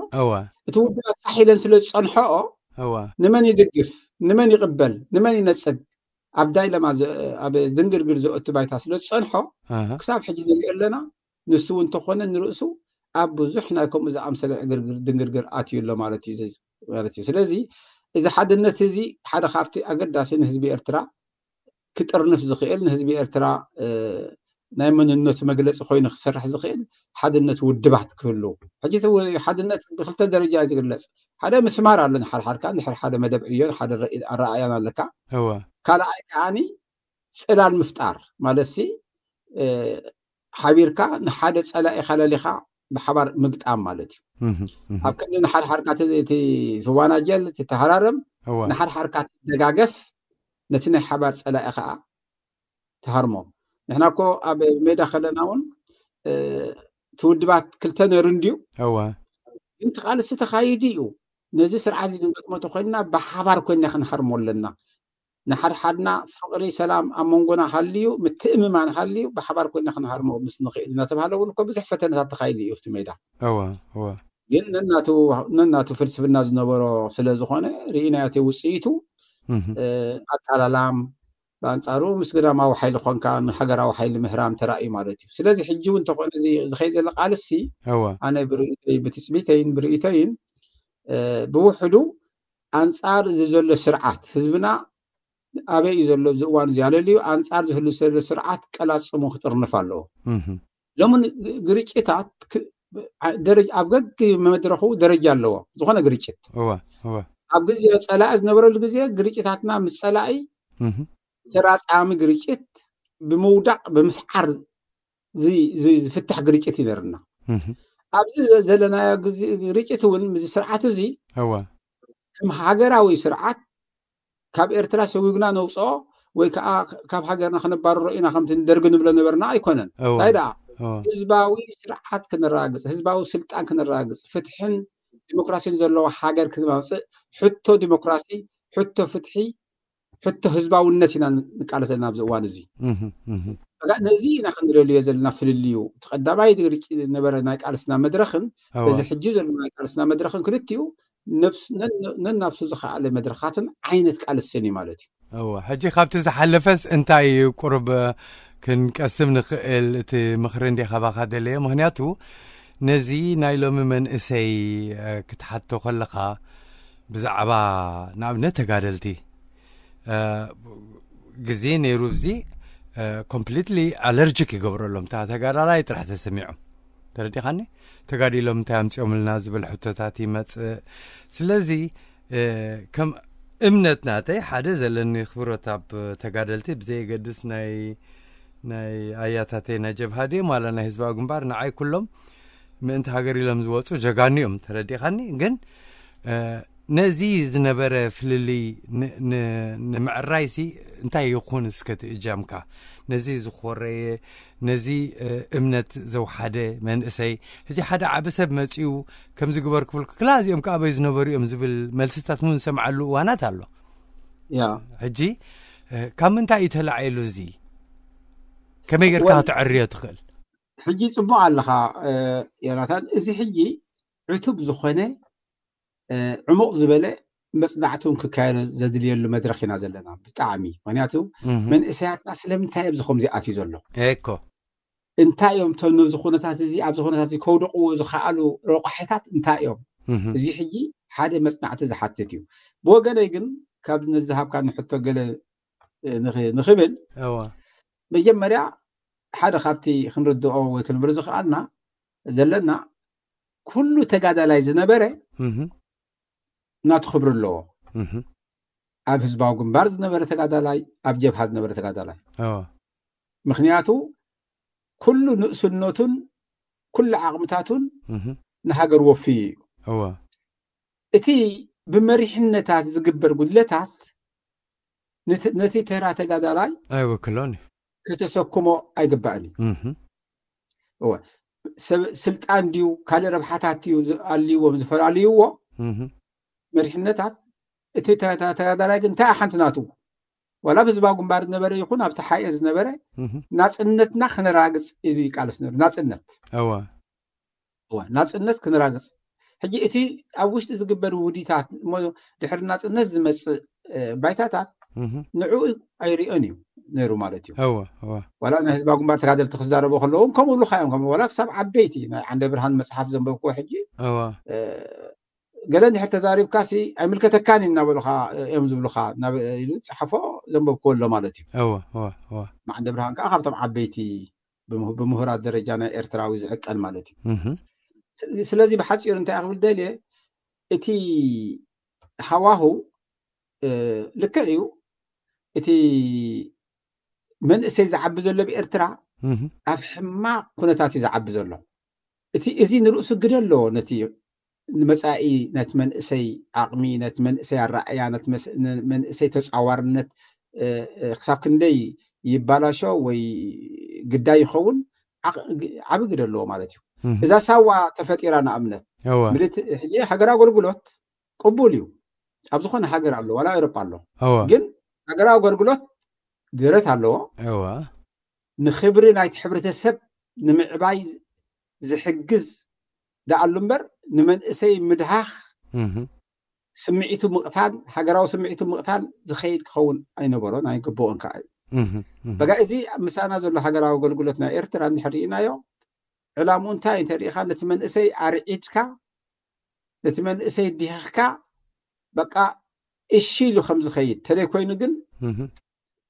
እቲ ውድባት ፋሕ ኢለን ስለ ዝፀንሐኦ ንመን ይድግፍ፣ ንመን ይቕበል፣ ንመን ይነፅግ ኣብ ዳይለማ ኣብ ድንግርግር ዘእቱ ባይታ ስለ ዝፀንሖ ክሳብ ሕጂ ንሪኦ ኣለና። ንሱ እውን እንተኾነ ንርእሱ ኣብ ብዙሕ ናይ ከምኡ ዝኣምሰለ ዕግርግር ድንግርግር ኣትዩ ኣሎ ማለት እዩ። ስለዚ እዚ ሓድነት እዚ ሓደ ካብቲ ኣገዳሲ ንህዝቢ ኤርትራ ክጥርንፍ ዝኽእል ንህዝቢ ኤርትራ ናይ መንነቱ መግለፂ ኮይኑ ክሰርሕ ዝኽእል ሓድነት ውድባት ክህሉ። ሕጂ ሓድነት ብክልተ ደረጃ እዩ ዝግለፅ። ሓደ ምስማር ኣሎ ንሓድሓድካ እንድሕር ሓደ መደብ ዕዮ ሓደ ኣረኣያን ኣለካ። ካልኣይ ከዓኒ ፅላል ምፍጣር ማለት ሲ ሓቢርካ ንሓደ ፀላኢኻ ለሊኻ ብሓባር ምግጣም ማለት እዩ። ኣብ ክንዲ ንሓድሓድካ ትዋናጀል ትተሃራረም ንሓድሓድካ ትደጋገፍ ነቲ ናይ ሓባር ፀላኢ ከዓ ትሃርሞ። ንሕና እኮ ኣብ ሜዳ ከለና እውን ትውድባት ክልተ ነይሩ እንድዩ ግን ትቃልሲ ተኻይዱ እዩ። ነዚ ስርዓት እዚ ክንገጥሞ ተኮይንና ብሓባር ኮይና ክንሃርሞ ኣለና። ንሓድሓድና ፍቕሪ ሰላም ኣብ መንጎና ሃልዩ ምትእምማን ሃልዩ ብሓባር ኮይና ክንሃርሞ ምስ ንኽእል እናተባሃለ እውን እኮ ብዙሕ ፈተነታት ተኻይዱ እዩ ኣብቲ ሜዳ። ግን ነናቱ ፍልስፍና ዝነበሮ ስለ ዝኾነ ርኢናዮ እቲ ውፅኢቱ ኣቃላላም ብኣንፃሩ ምስ ግዳማዊ ሓይሊ ኮንካ ንሃገራዊ ሓይሊ ምህራም ተራእዩ ማለት እዩ። ስለዚ ሕጂ እውን እንተኾነ እዚ ዝኸይ ዘሎ ቃልሲ ኣነ ብርእይቶይ ብትፅቢተይን ብርእይቶይን ብውሕዱ ኣንፃር እዚ ዘሎ ስርዓት ህዝብና ኣበይ እዩ ዘሎ ኣብዚ እዋን እዚ ኣለልዩ ኣንፃር ዝህሉ ዘሎ ስርዓት ቀላፅሙ ክጥርንፍ ኣለዎ። ሎሚ ግርጭታት ደረጃ ኣብ ገግ መድረኹ ደረጃ ኣለዎ። ዝኾነ ግርጭት እወ እወ ኣብ ግዜ ጸላኢ ዝነበረሉ ግዜ ግርጭታትና ምስ ጸላኢ ተራጻሚ ግርጭት ብምውዳቕ ብምስዓር ዝፍታሕ ግርጭት ይነርና። ኣብዚ ዘለናዮ ግርጭት እውን ምስዚ ስርዓት እዚ እወ ከም ሃገራዊ ስርዓት ካብ ኤርትራ ሰጉግና ነውፅኦ ወይ ከዓ ካብ ሃገርና ክነባርሮ ኢና ከምቲ ንደርጊ ንብሎ ነበርና ኣይኮነን። እንታይ ደኣ ህዝባዊ ስርዓት ክነረጋግፅ፣ ህዝባዊ ስልጣን ክነረጋግፅ፣ ፍትሕን ዲሞክራሲን ዘለዎ ሃገር ክነማምፅእ፣ ሕቶ ዲሞክራሲ፣ ሕቶ ፍትሒ፣ ሕቶ ህዝባውነት ኢና ንቃለስ ዘለና ኣብዚ እዋን እዚ። ነዚ ኢና ክንደልዮ ዘለና ፍልልዩ። እቲ ቀዳማይ ነበረ ናይ ቃልስና መድረኽን በዚ ሕጂ ዘሎ ናይ ቃልስና መድረኽን ክልቲኡ ነናብሱ ዝኸኣለ መድረኻትን ዓይነት ቃልስን እዩ ማለት እዩ። እወ፣ ሕጂ ካብቲ ዝሓለፈስ እንታይ እዩ ቁሩብ ክንቀስም ንኽእል? እቲ ምኽሪ እንደ ካባኻ ደለየ። ምኽንያቱ ነዚ ናይ ሎሚ መንእሰይ ክትሓቶ ከለኻ ብዛዕባ ንኣብነት ተጋደልቲ ግዜ ነይሩ፣ እዚ ኮምፕሊትሊ ኣለርጂክ ይገብረሎም። እታ ተጋዳላይ ጥራሕ ተሰሚዖም፣ ተረዲኻኒ? ተጋዲሎም እንታይ ኣምፂኦምልና ዝብል ሕቶታት ይመፅእ። ስለዚ ከም እምነት ናተይ ሓደ ዘለኒ ክብሮት ኣብ ተጋደልቲ ብዘየገድስ ናይ ናይ ኣያታተይ ናይ ጀብሃ ድዮም ዋላ ናይ ህዝባዊ ግንባር፣ ንዓይ ኩሎም ምእንቲ ሃገር ኢሎም ዝወፁ ጀጋኑ እዮም። ተረዲኻኒ? ግን ነዚ ዝነበረ ፍልልይ ንምዕራይሲ እንታይ ይኹን እስከ ትእጃምካ ነዚ ዝኾረየ ነዚ እምነት ዘውሓደ መንእሰይ ሕጂ ሓደ ዓቢ ሰብ መፂኡ ከምዚ ግበር ክብል ክላ እዚኦም ከኣበይ ዝነበሩ እዮም ዝብል መልስታት እውን ዝሰምዓሉ እዋናት ኣሎ። ያ ሕጂ ካብ ምንታይ እዩ ተላዒሉ? እዚ ከመይ ጌርካ ክትዕርዮ ትኽእል? ሕጂ ጽቡቕ ኣለኻ ዮናታን። እዚ ሕጂ ዕቱብ ዝኾነ ዕሙቕ ዝበለ መጽናዕቲ እውን ክካየዶ ዘድልየሉ መድረኽ ኢና ዘለና። ብጣዕሚ ምክንያቱ መንእሰያትና ስለምንታይ ኣብዚ ከምዚ ኣትዩ ዘሎ? እኮ እንታይ እዮም እቶም ነዚ ኩነታት እዚ ኣብዚ ኩነታት እዚ ከውድቕዎ ዝኸኣሉ ረቋሒታት እንታይ እዮም? እዚ ሕጂ ሓደ መጽናዕቲ ዝሓትት እዩ። ብወገነይ ግን ካብ ነዚ ዝሃብካኒ ሕቶ ገለ ንኽብል እዋ መጀመርያ ሓደ ካብቲ ክንርድኦ ወይ ክንብሎ ዝኽኣልና ዘለና ኩሉ ተጋዳላይ ዝነበረ ናቱ ክብሪ ኣለዎ። ኣብ ህዝባዊ ግንባር ዝነበረ ተጋዳላይ፣ ኣብ ጀብሃ ዝነበረ ተጋዳላይ ምክንያቱ ኩሉ ንእስነቱን ኩሉ ዓቕምታቱን ንሃገር ወፍዩ እዩ። እቲ ብመሪሕነታት ዝግበር ጉድለታት ነቲ ተራ ተጋዳላይ ኣይወክሎን እዩ። ከተሰክሞ ኣይግባእን እዩ። ስልጣን ድዩ ካልእ ረብሓታት ድዩ ኣልይዎም ዝፈላለይዎ መሪሕነታት፣ እቲ ተጋዳላይ ግን እንታይ ሓንቲ ናቱ ዋላ ኣብ ህዝባዊ ግንባር ዝነበረ ይኹን ኣብቲ ሓኤ ዝነበረ ናፅነትና ክነራግፅ ኢሉ ይቃለስ ነሩ። ናፅነት እዋ ናፅነት ክነራግፅ። ሕጂ እቲ ኣብ ውሽጢ ዝግበር ውዲታት እሞ ድሕሪ ናፅነት ዝመፅእ ባይታታት ንዕኡ ኣይሪኦን እዩ ነይሩ ማለት እዩ። ዋላ ናይ ህዝባዊ ግንባር ተጋደልቲ ክዛረቡ ከለዎም ከምኡ ብሉካ እዮም። ከም ዋላ ክሳብ ዓበይቲ ናይ ዓንደ ብርሃን መፅሓፍ ዘንበብክዎ ሕጂ ገለ እንድሕር ተዛሪብካ ሲ ኣይምልከተካን እዩ እናበሉካ እዮም ዝብሉካ። ናብ ኢሉ ዝፀሓፎ ዘንበብክዎ ኣሎ ማለት እዩ። እወ እወ እወ ማዕንደ ብርሃን ከዓ ካብቶም ዓበይቲ ብምሁ- ብምሁራት ደረጃ ናይ ኤርትራዊ ዝዕቀን ማለት እዩ። እህ ስለዚ ብሓፂሩ እንታይ ክብል ደልየ እቲ ሃዋሁ ልክዕ እዩ። እቲ መንእሰይ ዝዓቢ ዘሎ ብኤርትራ ኣብ ሕማቕ ኩነታት እዩ ዝዓቢ ዘሎ። እቲ እዚ ንርእሱ ግደ ኣለዎ። ነቲ ንመጻኢ ነቲ መንእሰይ ዓቕሚ፣ ነቲ መንእሰይ ኣረኣእያ፣ ነቲ መንእሰይ ተጻዋርነት ክሳብ ክንደይ ይባላሾ ወይ ግዳይ ይኸውን ዓቢ ግደ ኣለዎ ማለት እዩ። እዛ ሳዋ ተፈጢራ ንኣብነት ሕጂ ሃገር ኣገልግሎት ቅቡል እዩ። ኣብ ዝኾነ ሃገር ኣሎ ዋላ ኤውሮጳ ኣሎ። ግን ሃገራዊ ኣገልግሎት ደረት ኣለዎ። ንኽብሪ ናይቲ ሕብረተሰብ ንምዕባይ ዝሕግዝ ደኣሉ እምበር ንመንእሰይ ምድሃኽ ስምዒቱ ምቕታል ሃገራዊ ስምዒቱ ምቕታል ዝኸይድ ክኸውን ኣይነበሮን ኣይግብኦን ከዓ እዩ። በጋ እዚ ምሳና ዘሎ ሃገራዊ ኣገልግሎት ናይ ኤርትራ እንድሕር ርኢናዮ ዕላምኡ እንታይ እንተሪኢኻ ነቲ መንእሰይ ኣርዒድካ ነቲ መንእሰይ ዲህኽካ በቃ እሺ ኢሉ ከም ዝኸይድ ተለይ ኮይኑ ግን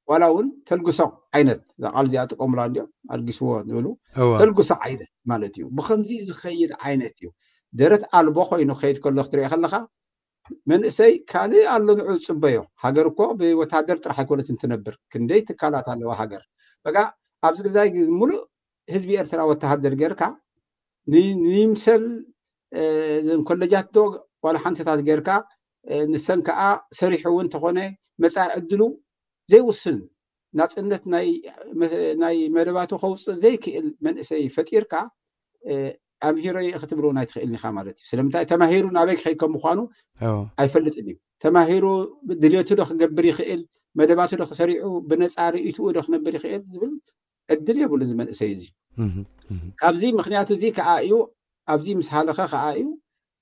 ዋላ እውን ተልግሶ ዓይነት፣ እዛ ቃል እዚኣ ጥቀሙላ እንዲኦም፣ ኣልጊስዎ ንብሉ። እወ። ተልግሶ ዓይነት ማለት እዩ። ብኸምዚ ዝኸይድ ዓይነት እዩ። ደረት ኣልቦ ኮይኑ ክኸይድ ከሎ ክትሪኦ ከለኻ፣ መንእሰይ ካልእ ኣሎ ንዑ ዝጽበዮ። ሃገር እኮ ብወተሃደር ጥራሕ ኣይኮነትን ትነብር። ክንደይ ትካላት ኣለዋ ሃገር። በቃ ኣብዚ ግዛይ ሙሉእ ህዝቢ ኤርትራ ወተሃደር ጌርካ፣ ን-፣ ንይምሰል፣ እ፣ እዘን ኮለጃት ዶ ዋላ ሓንቲታት ጌርካ፣ እ፣ ንሰን ከኣ ሰሪሑ እውን ተኾነ መጻኢ ዕድሉ ዘይውስን፣ ናጽነት ናይ መ-፣ ናይ መደባቱ ከውጽእ ዘይክእል መንእሰይ ፈጢርካ፣ እ፣ ኣምሂሮ እየ ክትብሎ ናይ ትኽእል ኢኻ ማለት እዩ። ስለምንታይ? ተማሂሩ ናበይ ክኸይድ ከም ምዃኑ እዎ። ኣይፈልጥን እዩ። ተማሂሩ ድልየቱ ዶ ክገብር ይኽእል፣ መደባቱ ዶ ክሰሪዑ፣ ብነጻ ርእይትኡ ዶ ክነብር ይኽእል ዝብል ዕድል የብሉን እዚ መንእሰይ እዚ። እህ፣ እህ። ካብዚ ምኽንያቱ እዚ ከኣ እዩ፣ ኣብዚ ምስ ሃለኸ ከኣ እዩ፣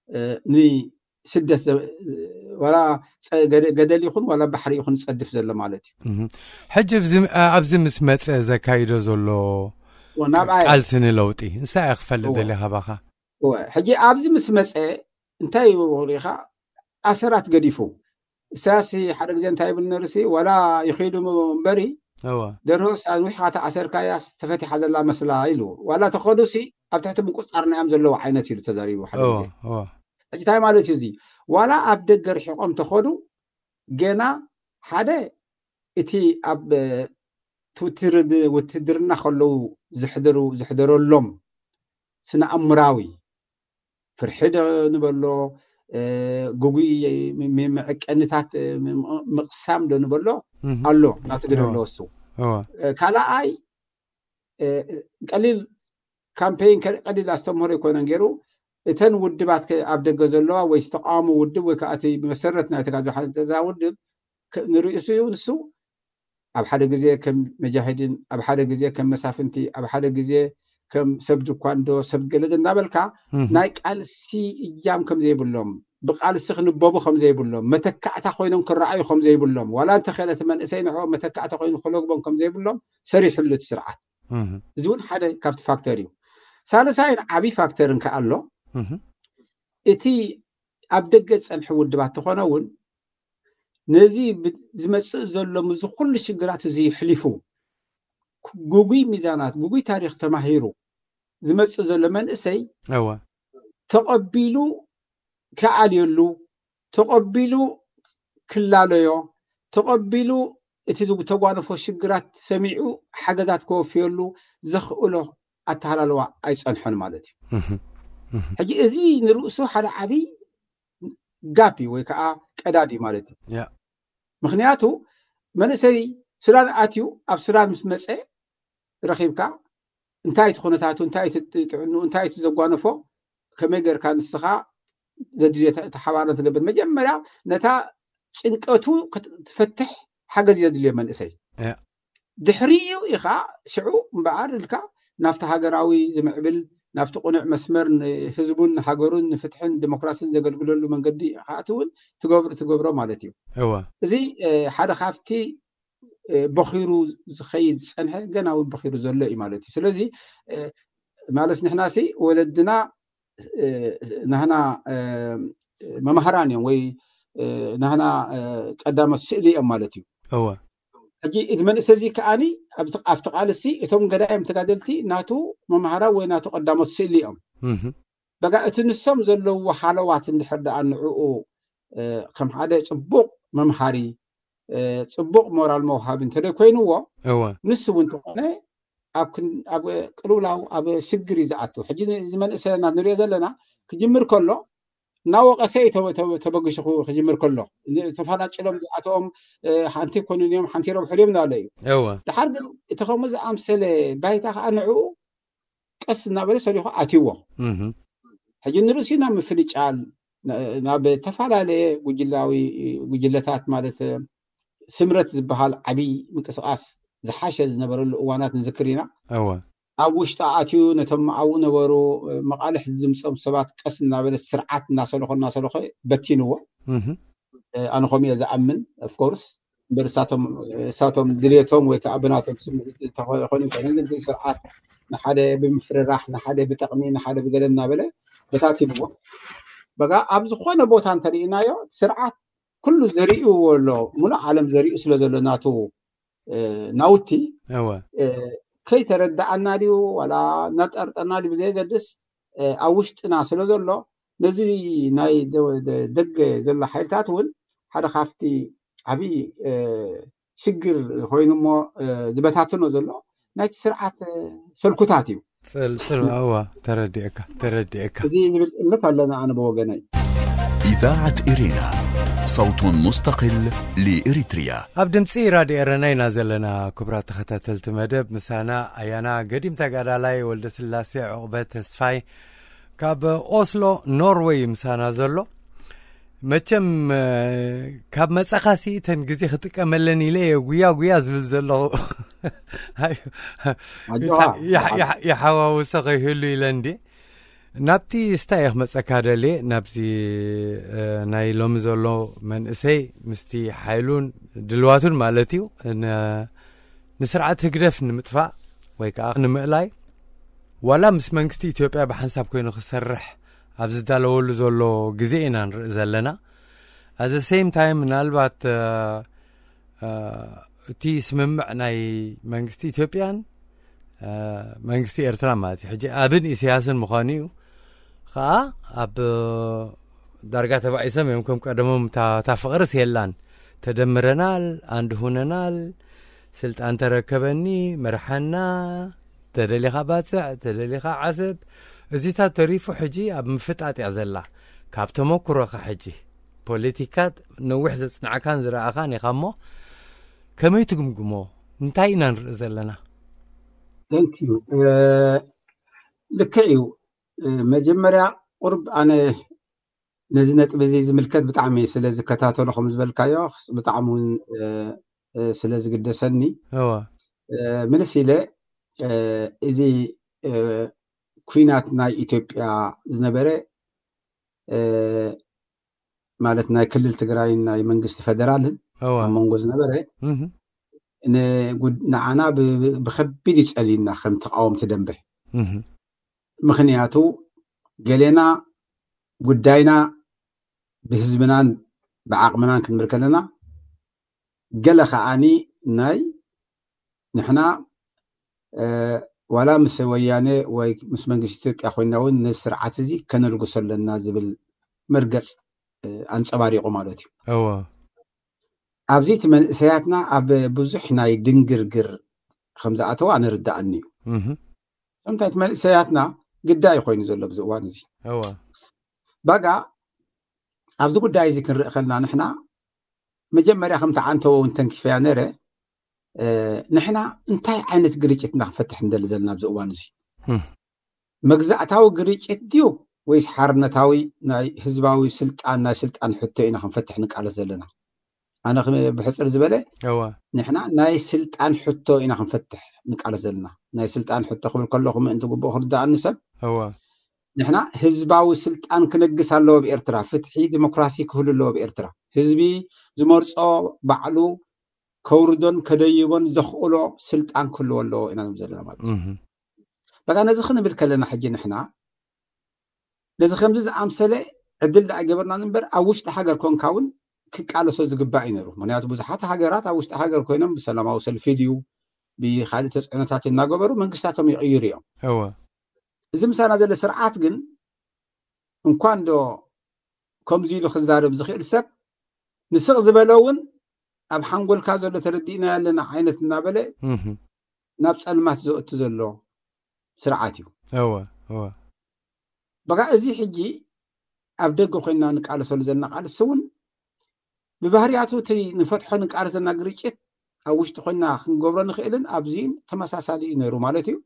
እ፣ ንስደት ዘ-፣ ዋላ ጸ-፣ ገደ-፣ ገደል ይኹን ዋላ ባሕሪ ይኹን ዝጸድፍ ዘሎ ማለት እዩ። እህ። ሕጂ ኣብዚ፣ ኣብዚ ምስ መጸ ዘካይዶ ዘሎ ወ-፣ ናብኣይ ቃልሲ ንለውጢ፣ ንሳ እያ ክፈልጥ እወ። ደልየ ካባኻ። እወ፣ ሕጂ ኣብዚ ምስ መጸ እንታይ እዩ ሪኢኻ? ኣሰራት ገዲፉ። ኢሳያስ ሓደ ግዜ እንታይ ይብል ነይሩ ሲ፣ ዋላ ይኸይዱ እምበሪ፣ እወ። ደርሆስ ኣንዊሕኻ ተኣሰርካያ ተፈቲሓ ዘላ መስላ ኢሉ። ዋላ ተኸዱ ሲ፣ ኣብ ትሕቲ ምቁጽጻርና እዮም ዘለዉ ዓይነት ኢሉ ተዛሪቡ ሓደ እወ፣ ግዜ። እወ። ሕጂ እንታይ ማለት እዩ እዚ? ዋላ ኣብ ደገ ርሒቖም ተኸዱ፣ ገና ሓደ እቲ ኣብ፣ እ፣ ትውትር-፣ ውትድርና ከለዉ ዝሕደሩ-፣ ዝሕደረሎም ስነ ኣእምራዊ ፍርሒ ዶ ንበሎ፣ እ፣ ግጉይ ም-፣ ም-፣ መዐቀኒታት፣ እ፣ ም-፣ ም-፣ ምቕሳም ዶ ንበሎ እህ። ኣሎ፣ ናቱ ግደ እዎ። ኣለዎ እሱ። እዎ። እ፣ ካልኣይ፣ እ፣ ቀሊል ካምፔይን ከ-፣ ቀሊል ኣስተምህሮ ኣይኮነን ገይሩ። እተን ውድባት ከ-፣ ኣብ ደገ ዘለዋ ወይ ተቃዋሚ ውድብ ወይ ከዓ እቲ መሰረት ናይ ተጋድሎ ሓርነት እዛ ውድብ ከ-፣ ንርእሱ እዩ ንሱ ኣብ ሓደ ግዜ ከም መጃሂድን፣ ኣብ ሓደ ግዜ ከም መሳፍንቲ፣ ኣብ ሓደ ግዜ ከም ሰብ ጅኳንዶ፣ ሰብ ገለድ እናበልካ እህ። ናይ ቃልሲ እጃም ከም ዘይብሎም፣ ብቃልሲ ክንበቡ ከም ዘይብሎም፣ መተካእታ ኮይኖም ክረኣዩ ከም ዘይብሎም፣ ዋላ እንተኸለ እቲ መንእሰይ ንዕኦም መተካእታ ኮይኑ ክለግቦም ከም ዘይብሎም ሰሪሕሉ እቲ ስርዓት። እህ። እዚ እውን ሓደ ካብቲ ፋክተር እዩ። ሳልሳይን ዓብዪ ፋክተርን ከኣ ኣሎ። እህ። እቲ ኣብ ደገ ዝጸንሐ ውድባት ተኾነ እውን ነዚ ብ-፣ ዝመጽእ ዘሎ ምስዚ ኩሉ ሽግራት እዚ የሕሊፉ፣ ክ-፣ ግጉይ ሚዛናት፣ ግጉይ ታሪኽ ተማሂሩ ዝመጽእ ዘሎ መንእሰይ እወ። ተቐቢሉ ክኣልየሉ፣ ተቐቢሉ ክላለዮ፣ ተቐቢሉ እቲ ዝተጓነፎ ሽግራት ሰሚዑ ሓገዛት ከወፍየሉ ዘኽእሎ ኣተሃላልዋ ኣይጸንሐን ማለት እዩ። እህ፣ እህ። ሕጂ እዚ ንርእሱ ሓደ ዓብዪ ጋፕ እዩ ወይ ከዓ ቀዳድ እዩ ማለት እዩ። ያ። ምኽንያቱ መንእሰይ ሱዳን ኣትዩ ኣብ ሱዳን ምስ መጸ ረኺብካ እንታይ እቲ ኩነታቱ፣ እንታይ እቲ ጥዕንኡ፣ እንታይ እቲ ዘጓነፎ፣ ከመይ ጌርካ ንስኻ ዘድልዮ ተ-፣ ተሓባሮ ትገብር። መጀመርያ ነታ ጭንቀቱ ክት-፣ ትፈትሕ ሓገዝ እዩ ዘድልዮ መንእሰይ። ያ። ድሕሪኡ ኢኻ ሽዑ እምበኣር ኢልካ ናብቲ ሃገራዊ ዝምዕብል፣ ናብቲ ቅኑዕ መስመር ንህዝቡን ንሃገሩን ንፍትሕን ዲሞክራሲን ዘገልግለሉ መንገዲ ክኣትውን ትገብር-፣ ትገብሮ ማለት እዩ። እወ። እዚ፣ እ፣ ሓደ ካብቲ፣ እ፣ በኺሩ ዝኸይድ ዝጸንሐ ገና እውን በኺሩ ዘሎ እዩ ማለት እዩ። ስለዚ፣ እ፣ ማለት ንሕናሲ ወለድና፣ እ፣ ናህና፣ እ፣ መምሃራን እዮም ወይ፣ እ፣ ናህና፣ እ፣ ቀዳሞት ስእሊ እዮም ማለት እዩ። እወ። ሕጂ እቲ መንእሰይ እዚ ከኣኒ ኣብቲ፣ ኣብቲ ቃልሲ እቶም ገዳይም ተጋደልቲ ናቱ መምሃራ ወይ ናቱ ቀዳሞት ስእሊ እዮም። እህ። በቃ እቲ ንሶም ዘለውዎ ሃለዋት እንድሕር ደኣ ንዕኡ፣ እ፣ ከም ሓደ ጽቡቕ መምሃሪ፣ እ፣ ጽቡቕ ሞራል መውሃቢ እንተደይ ኮይንዎ፣ እወ። ንሱ እውን እንተኾነ ኣብ ክን-፣ ኣብ ቅልውላው፣ ኣብ ሽግር እዩ ዝኣቱ። ሕጂ እዚ መንእሰይና ንሪኦ ዘለና ክጅምር ከሎ እናወቐሰ እዩ ተበ-፣ ተበ-፣ ተበግሹ ክጅምር ከሎ። ተፈናጭሎም ዝኣተዎም፣ እ፣ ሓንቲ ይኮኑን እዮም፣ ሓንቲ ይረብሑ ድዮም እናበለ እዩ። እወ። ድሓር ግን እቲ ከምኡ ዝኣምሰለ ባይታ ከዓ ንዕኡ ቀስ እናበለ ሰሊኹ ኣትይዎ። እህ። ሕጂ ንርእሲ ናብ ምፍንጫል፣ ና-፣ ናብ ዝተፈላለየ ጉጅላዊ ጉጅለታት ማለት ስምረት ዝበሃል ዓብዪ ምንቅስቃስ ዝሓሸ ዝነበረሉ እዋናት ንዝክር ኢና። እወ። ኣብ ውሽጢ ኣትዩ ነቶም ኣብኡ ነበሩ መቓልሕ ዝምጾም ሰባት ቀስ እናበለ ስርዓት እናሰለኾ እናሰለኾ በቲንዎ። እህ። እ፣ ኣነ ከምኡ እየ ዝኣምን፣ ኦፍ ኮርስ። እምበር እሳቶም፣ እሳቶም ድልየቶም ወይ ከዓ ብናቶም ስምዒት እንተኾ-፣ ይኾኑ እንተኾይኑ፣ ግን እቲ ስርዓት ንሓደ ብምፍርራሕ፣ ንሓደ ብጠቕሚ፣ ንሓደ ብገለ እናበለ በታቲንዎ። በቃ ኣብ ዝኾነ ቦታ እንተሪእናዮ፣ ስርዓት ኩሉ ዘርእዎ ኣሎ፣ ሙሉእ ዓለም ዘርእዩ ስለ ዘሎ ናቱ ናውቲ እወ ከይተረዳኣና ድዩ ዋላ እናጠርጠና ድዩ ብዘየገድስ ኣብ ውሽጥና ስለ ዘሎ ነዚ ናይ ደገ ዘሎ ሓይልታት እውን ሓደ ካብቲ ዓብዪ ሽግር ኮይኑ እሞ ዝበታትኖ ዘሎ ናይቲ ስርዓት ሰልኩታት እዩ። ጽልጽል እዋ ተረዲእካ ተረዲእካ እዚ ዝብል እምነት ኣለና ኣነ ብወገነይ። إذاعة إرينا، صوت مستقل لإريتريا. ኣብ ድምፂ ራድዮ ኤረና ኢና ዘለና። ክቡራት ተኸታተልቲ መደብ ምሳና ኣያና ገዲም ተጋዳላይ ወልደ ስላሴ ዕቑበ ተስፋይ ካብ ኦስሎ ኖርወይ ምሳና ዘሎ። መቸም ካብ መፀኻሲ እተን ግዜ ክጥቀመለን ኢለ እየ ጉያ ጉያ ዝብል ዘለኹ። ይሓዋውሰ ከይህሉ ኢለ እንዲ ናብቲ ስታይ እየ ክመፀካ ደልየ ናብዚ ናይ ሎሚ ዘሎ መንእሰይ ምስቲ ሓይሉን ድልዋቱን ማለት እዩ ንስርዓት ህግደፍ ንምጥፋእ ወይ ከዓ ንምእላይ ዋላ ምስ መንግስቲ ኢትዮጵያ ብሓንሳብ ኮይኑ ክሰርሕ ኣብ ዝዳለወሉ ዘሎ ግዜ ኢና ንርኢ ዘለና። ኣዘ ሴም ታይም ምናልባት እቲ ስምምዕ ናይ መንግስቲ ኢትዮጵያን መንግስቲ ኤርትራ ማለት እዩ ሕጂ ኣብን ኢሳያስን ምዃኑ እዩ። ከዓ ኣብ ዳርጋ ተባኢሶም እዮም ከም ቀደሞም እታ ፍቕርስ የላን። ተደምረናል፣ ኣንድ ሁነናል፣ ስልጣን ተረከበኒ፣ መርሓና፣ ተደሊኻ ባፅዕ፣ ተደሊኻ ዓሰብ። እዚታት ተሪፉ ሕጂ ኣብ ምፍጣጥ እያ ዘላ። ካብ ተመኩሮኻ ሕጂ ፖለቲካ ነዊሕ ዘፅናዕካን ዝረኣኻን ኢኻ እሞ ከመይ ትግምግሞ? እንታይ ኢና ንርኢ ዘለና? Thank you። ልክዕ እዩ። መጀመርያ ቁርብ ኣነ ነዚ ነጥቢ እዚ ዝምልከት ብጣዕሚ ስለ ዝከታተሎ ከም ዝበልካዮ ብጣዕሚ እውን ስለ ዝግደሰኒ እወ ምልስ ኢለ እዚ ኩናት ናይ ኢትዮጵያ ዝነበረ ማለት ናይ ክልል ትግራይን ናይ መንግስቲ ፈደራልን እወ ኣብ መንጎ ዝነበረ እህ ንዓና ብከቢድ ይፀልዩና ከም ተቃወምቲ ደንበ እህ ምክንያቱ ገሌና ጉዳይና ብህዝብናን ብዓቕምናን ክንብል ከለና ገለ ከዓኒ ናይ ንሕና ዋላ ምስ ወያነ ወይ ምስ መንግስቲ ኢትዮጵያ ኮይና እውን ነዚ ስርዓት እዚ ከነልግሶ ኣለና ዝብል መርገፅ ኣንፀባሪቑ ማለት እዩ። እወ ኣብዚ እቲ መንእሰያትና ኣብ ብዙሕ ናይ ድንግርግር ከም ዝኣተዋ ንርዳእኒ እዩ። እህ ከምታ እቲ መንእሰያትና ግዳይ ኮይኑ ዘሎ ኣብዚ እዋን እዚ እወ ባጋ ኣብዚ ጉዳይ እዚ ክንርኢ ከልና ንሕና መጀመርያ ከምቲ ዓንተዎ እውን ተንኪፈያ ነረ ንሕና እንታይ ዓይነት ግርጭት ኢና ክፈትሕ እንደሊ ዘለና ኣብዚ እዋን እዚ እህ መግዛእታዊ ግርጭት ድዩ ወይስ ሓርነታዊ ናይ ህዝባዊ ስልጣን ናይ ስልጣን ሕቶ ኢና ክንፈትሕ ንቃለስ ዘለና? ኣነ ብሕፅር ዝበለ እወ ንሕና ናይ ስልጣን ሕቶ ኢና ክንፈትሕ ንቃለስ ዘለና። ናይ ስልጣን ሕቶ ክብል ከለኹ ምእንቲ ግቡእ ክርዳእኒ ሰብ እወ ንሕና ህዝባዊ ስልጣን ክነግስ ኣለዎ ብኤርትራ። ፍትሒ ዲሞክራሲ ክህሉ ኣለዎ ብኤርትራ። ህዝቢ ዝመርፆ ባዕሉ ከውርዶን ከደይቦን ዘኽእሎ ስልጣን ክህልዎ ኣለዎ ኢና ንብል ዘለና ማለት እዩ። እህ በቃ ነዚ ክንብል ከለና ሕጂ ንሕና ነዚ ከምዚ ዝኣምሰለ ዕድል ደኣ ገበርና እምበር ኣብ ውሽጢ ሃገር ኮንካ እውን ክቃለሶ ዝግባእ እዩ ነሩ። ምክንያቱ ብዙሓት ሃገራት ኣብ ውሽጢ ሃገር ኮይኖም ብሰላማዊ ሰልፊ ድዩ ብካልእ ተፅዕኖታት እናገበሩ መንግስታቶም ይቕይሩ እዮም። እወ እዚ ምሳና ዘሎ ስርዓት ግን እንኳን ዶ ከምዚ ኢሉ ክዛረብ ዝኽእል ሰብ ንስቕ ዝበለ እውን ኣብ ሓንጎልካ ዘሎ ተረዲእና ያለና ዓይነት እናበለ እህ ናብ ፀልማት ዘእቱ ዘሎ ስርዓት እዩ። እወ እወ በቃ እዚ ሕጂ ኣብ ደገ ኮይና ንቃለሰሉ ዘለና ቃልሲ እውን ብባህርያቱ እቲ ንፈትሖ ንቃለስ ዘለና ግርጭት ኣብ ውሽጢ ኮይና ክንገብሮ ንኽእልን ኣብዚን ተመሳሳሊ እዩ ነይሩ ማለት እዩ።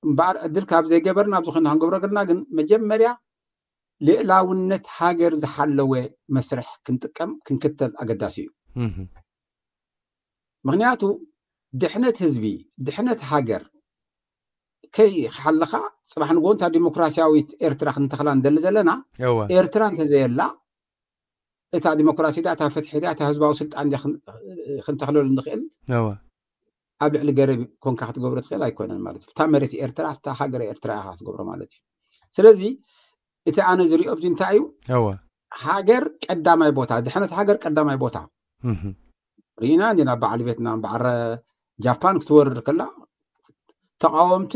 እምበኣር ዕድል ካብ ዘይገበርና ኣብዚ ኮይና ክንገብሮ ገርና ግን መጀመርያ ልእላውነት ሃገር ዝሓለወ መስርሕ ክንጥቀም ክንክተል ኣገዳሲ እዩ። እህ ምክንያቱ ድሕነት ህዝቢ ድሕነት ሃገር ከይ ክሓለኻ ፅባሕ ንጎ እንታ ዲሞክራሲያዊት ኤርትራ ክንተኽላ ንደሊ ዘለና እወ ኤርትራ እንተዘየላ እታ ዲሞክራሲ ዳ እታ ፍትሒ ዳ እታ ህዝባዊ ስልጣን ዳ ክን- ክንተኽለሉ ንኽእል እወ ኣብ ልዕሊ ገረብ ኮንካ ክትገብሮ ትኽእል ኣይኮነን ማለት እዩ። እታ መሬት ኤርትራ እታ ሃገር ኤርትራ ኢኻ ክትገብሮ ማለት እዩ። ስለዚ እቲ ኣነ ዝሪኦ ኣብዚ እንታይ እዩ እወ ሃገር ቀዳማይ ቦታ ድሕነት ሃገር ቀዳማይ ቦታ እህ ርኢና እንዲና በዓል ቬትናም በዓል ጃፓን ክትወርድ ከላ ተቃወምቲ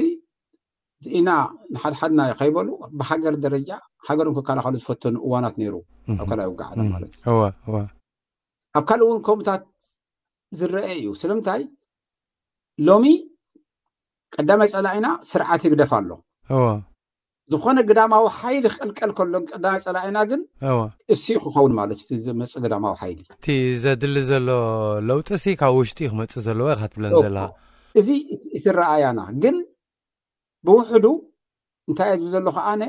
ኢና ንሓድሓድና ከይበሉ ብሃገር ደረጃ ሃገሮም ክከላኸሉ ዝፈተኑ እዋናት ነይሩ። ኣብ ካልኣይ ውግእ ዓለም ማለት እዩ። ኣብ ካልእ እውን ከምኡታት ዝረአ እዩ። ስለምንታይ ሎሚ ቀዳማይ ፀላኢና ስርዓት ይግደፍ ኣሎ። ዝኾነ ግዳማዊ ሓይሊ ክቅልቀል ከሎ ቀዳማይ ፀላኢና ግን እሱ ክኸውን ማለት እዩ። ዝመፅእ ግዳማዊ ሓይሊ እቲ ዘድሊ ዘሎ ለውጢ ሲ ካብ ውሽጢ ክመፅእ ዘለዎ ኢካ ትብለን ዘላ። እዚ እቲ ረኣያና ግን ብውሕዱ እንታይ እየ ዝብል ዘለኹ ኣነ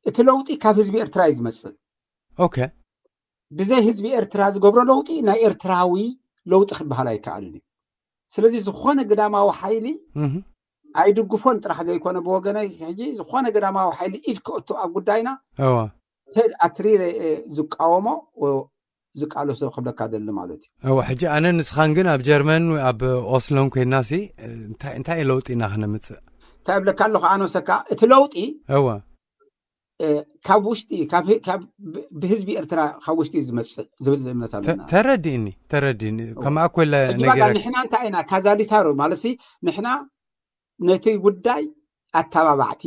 እቲ ለውጢ ካብ ህዝቢ ኤርትራ እዩ ዝመፅእ። ኦኬ ብዘይ ህዝቢ ኤርትራ ዝገብሮ ለውጢ ናይ ኤርትራዊ ለውጢ ክበሃል ኣይከኣልን እዩ። ስለዚ ዝኾነ ግዳማዊ ሓይሊ ኣይድግፎን ጥራሕ ዘይኮነ ብወገነይ ሕጂ ዝኾነ ግዳማዊ ሓይሊ ኢድ ክእቱ ኣብ ጉዳይና እዋ ተድ ኣትሪረ ዝቃወሞ ዝቃለሶ ክብለካ ደሊ ማለት እዩ። እዋ ሕጂ ኣነ ንስኻን ግን ኣብ ጀርመን ኣብ ኦስሎን ኮይና ሲ እንታይ እንታይ ለውጢ ኢና ክነምፅእ? እንታይ እብለካ ኣለኹ ኣነ ወሰካ እቲ ለውጢ እዋ ካብ ውሽጢ ካብ ካብ ብህዝቢ ኤርትራ ካብ ውሽጢ እዩ ዝመፅእ ዝብል እምነት ኣለና። ተረዲእኒ ተረዲእኒ ከማኣ ኮለ ሕጂ ባጋ ንሕና እንታይ ኢና ካዛሊታሮ ማለት ሲ ንሕና ነቲ ጉዳይ ኣተባባዕቲ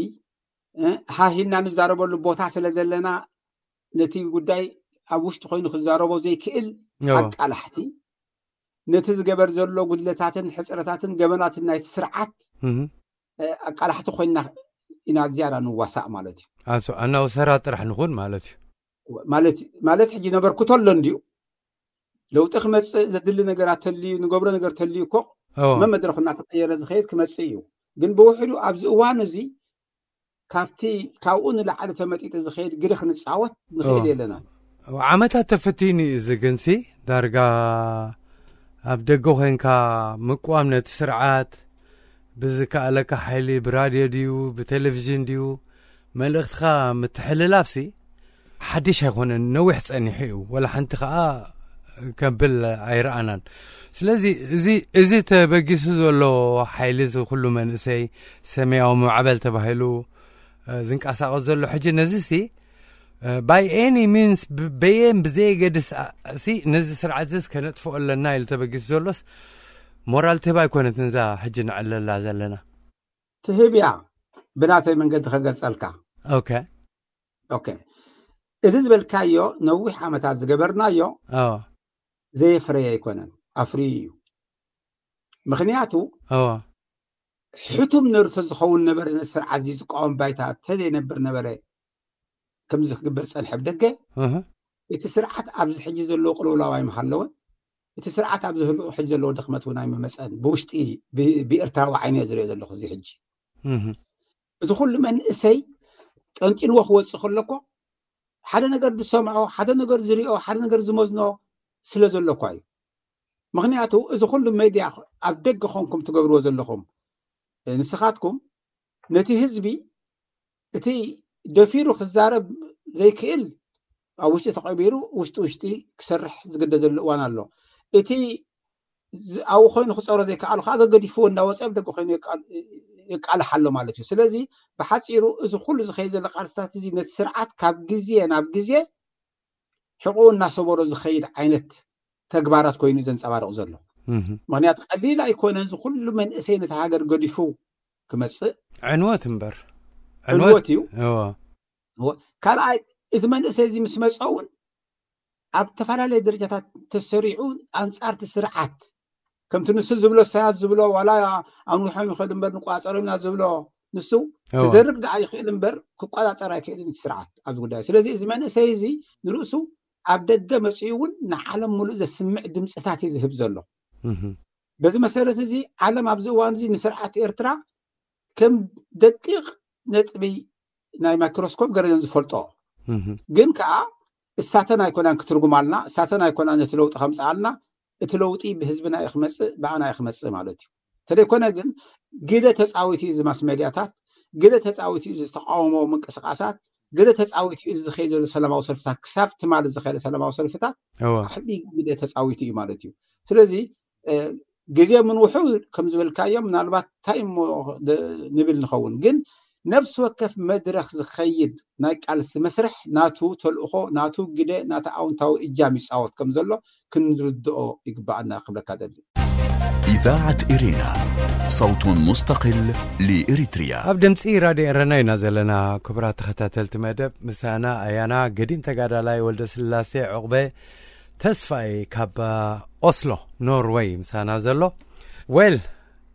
ሃሂልና ንዛረበሉ ቦታ ስለ ዘለና ነቲ ጉዳይ ኣብ ውሽጢ ኮይኑ ክዛረቦ ዘይክእል ኣቃላሕቲ ነቲ ዝገበር ዘሎ ጉድለታትን ሕፅረታትን ገበናትን ናይቲ ስርዓት ኣቃላሕቲ ኮይና ኢና ዝያዳ ንዋሳእ ማለት እዩ። ኣሱ ኣናውሰራ ጥራሕ ንኹን ማለት እዩ። ማለት ሕጂ ነበርኩቶ ኣሎ እንድዩ ለውጢ ክመፅእ ዘድሊ ነገራት ተልዩ ንገብሮ ነገር ተልዩ እኮ መመድረኹ እናተቀየረ ዝኸየድ ክመፅእ እዩ። ግን ብውሕዱ ኣብዚ እዋን እዚ ካብቲ ካብኡ ንላዕሊ ተመጢጡ ዝኸየድ ግደ ክንፃወት ንኽእል የለና። ዓመታት ተፈቲኑ እዩ እዚ ግንሲ ዳርጋ ኣብ ደገ ኮንካ ምቅዋም ነቲ ስርዓት ብዝከኣለካ ሓይሊ ብራድዮ ድዩ ብቴሌቪዥን ድዩ መልእኽትኻ ምትሕልላፍሲ ሓድሽ ኣይኮነን፣ ነዊሕ ጸኒሑ እዩ፣ ወላ ሓንቲ ከኣ ከብል ኣይረኣናን። ስለዚ እዚ እዚ ተበጊሱ ዘሎ ሓይሊ እዚ ኩሉ መንእሰይ ሰማያዊ ማዕበል ተባሂሉ ዝንቀሳቐስ ዘሎ ሕጂ ነዚሲ by any means በየን ብዘየገድስ ሲ ነዚ ስርዓት ዝስ ከነጥፍኦ ኣለና ኢሉ ተበጊሱ ዘሎስ ሞራል ትህብ ኣይኮነትን እዛ ሕጂ ንዕለላ ዘለና። ትህብ እያ ብናተይ መንገዲ ከገልጸልካ። ኦኬ ኦኬ እዚ ዝበልካዮ ነዊሕ ዓመታት ዝገበርናዮ ኣዎ ዘየፍረየ ኣይኮነን ኣፍርዩ እዩ። ምክንያቱ ኣዎ ሕቱም ነርቶ ዝኸውን ነበረ ነቲ ስርዓት እዚ ዝቃወም ባይታ ተዘይነብር ነበረ ከምዚ ክግበር ዝጸንሐ ብደገ እህ እቲ ስርዓት ኣብዚ ሕጂ ዘለዎ ቅልውላው ኣይምሃለወን። እቲ ስርዓት ኣብዚ ህልው ሕጂ ዘለዎ ድኽመት እውን ኣይምመጸን። ብውሽጢ ብ- ብኤርትራዊ ዓይነ ዝሪኦ ዘለኹ እዚ ሕጂ እህ እዚ ኩሉ መንእሰይ ጠንጢንዎ ክወፅእ ከለኮ ሓደ ነገር ዝሰምዖ ሓደ ነገር ዝሪኦ ሓደ ነገር ዝመዝኖ ስለ ዘለኳ እዩ። ምክንያቱ እዚ ኩሉ ሜድያ ኣብ ደገ ኮንኩም ትገብርዎ ዘለኹም ንስኻትኩም ነቲ ህዝቢ እቲ ደፊሩ ክዛረብ ዘይክእል ኣብ ውሽጢ ተቐቢሩ ውሽጢ ውሽጢ ክሰርሕ ዝግደደሉ እዋን ኣሎ። እቲ ኣብኡ ኮይኑ ክፀሮ ዘይከኣሉ ከዓ ገገዲፍዎ እንዳወፀ ኣብ ደገ ኮይኑ የቃልሕ ኣሎ ማለት እዩ። ስለዚ ብሓፂሩ እዚ ኩሉ ዝኸይ ዘሎ ቃልስታት እዚ ነቲ ስርዓት ካብ ግዜ ናብ ግዜ ሕቁኡ እናሰበሮ ዝኸይድ ዓይነት ተግባራት ኮይኑ ዘንፀባርቕ ዘሎ። ምክንያቱ ቀሊል ኣይኮነን እዚ ኩሉ መንእሰይ ነቲ ሃገር ገዲፉ ክመፅእ ዕንወት እምበር ዕንወት እዩ። እዎ ካልኣይ እቲ መንእሰይ እዚ ምስ መፀ እውን ኣብ ዝተፈላለየ ደረጃታት ተሰሪዑ ኣንፃርቲ ስርዓት ከምቲ ንሱ ዝብሎ ሰያት ዝብሎ ዋላ ኣንዊሖም ይኸዱ እምበር ንቋፀሮም ኢና ዝብሎ ንሱ ክዘርግ ደኣ ይኽእል እምበር ክቋፃፀር ኣይክእልን ስርዓት ኣብዚ ጉዳይ። ስለዚ እዚ መንእሰይ እዚ ንርእሱ ኣብ ደገ መፂኡ እውን ንዓለም ሙሉእ ዘስምዕ ድምፅታት እዩ ዝህብ ዘሎ። በዚ መሰረት እዚ ዓለም ኣብዚ እዋን እዚ ንስርዓት ኤርትራ ከም ደቂቕ ነጥቢ ናይ ማይክሮስኮፕ ገረን ዝፈልጦ ግን ከዓ እሳተን ኣይኮናን ክትርጉማልና እሳተን ኣይኮናን ነቲ ለውጢ ከምፅኣልና እቲ ለውጢ ብህዝብና እዩ ክመፅእ ብኣና እዩ ክመፅእ ማለት እዩ። ተደይኮነ ግን ግደ ተፃዊት እዩ እዚ ማስ ሜድያታት ግደ ተፃዊት እዩ ዝተቃወሞ ምንቅስቃሳት ግደ ተፃዊት እዩ ዝኸይ ዘሎ ሰላማዊ ሰልፍታት ክሳብ ትማሊ ዝኸደ ሰላማዊ ሰልፍታት ዓብይ ግደ ተፃዊት እዩ ማለት እዩ። ስለዚ ግዜ ምንውሑ ከም ዝበልካዮ ምናልባት እንታይ እሞ ንብል ንኸውን ግን ነፍሲ ወከፍ መድረኽ ዝኸይድ ናይ ቃልሲ መስርሕ ናቱ ተልእኾ፣ ናቱ ግደ፣ ናቱ ኣውንታዊ እጃም ይጻወት ከም ዘሎ ክንርድኦ ይግባኣና ክብለካ ደሊ። إذاعة إرينا، صوت مستقل لإريتريا. ኣብ ድምፂ ራድዮ ኤረና ኢና ዘለና። ክቡራት ተኸታተልቲ መደብ፣ ምሳና ኣያና ገዲም ተጋዳላይ ወልደ ስላሴ ዑቕበ ተስፋይ ካብ ኦስሎ ኖርወይ ምሳና ዘሎ። ዌል፣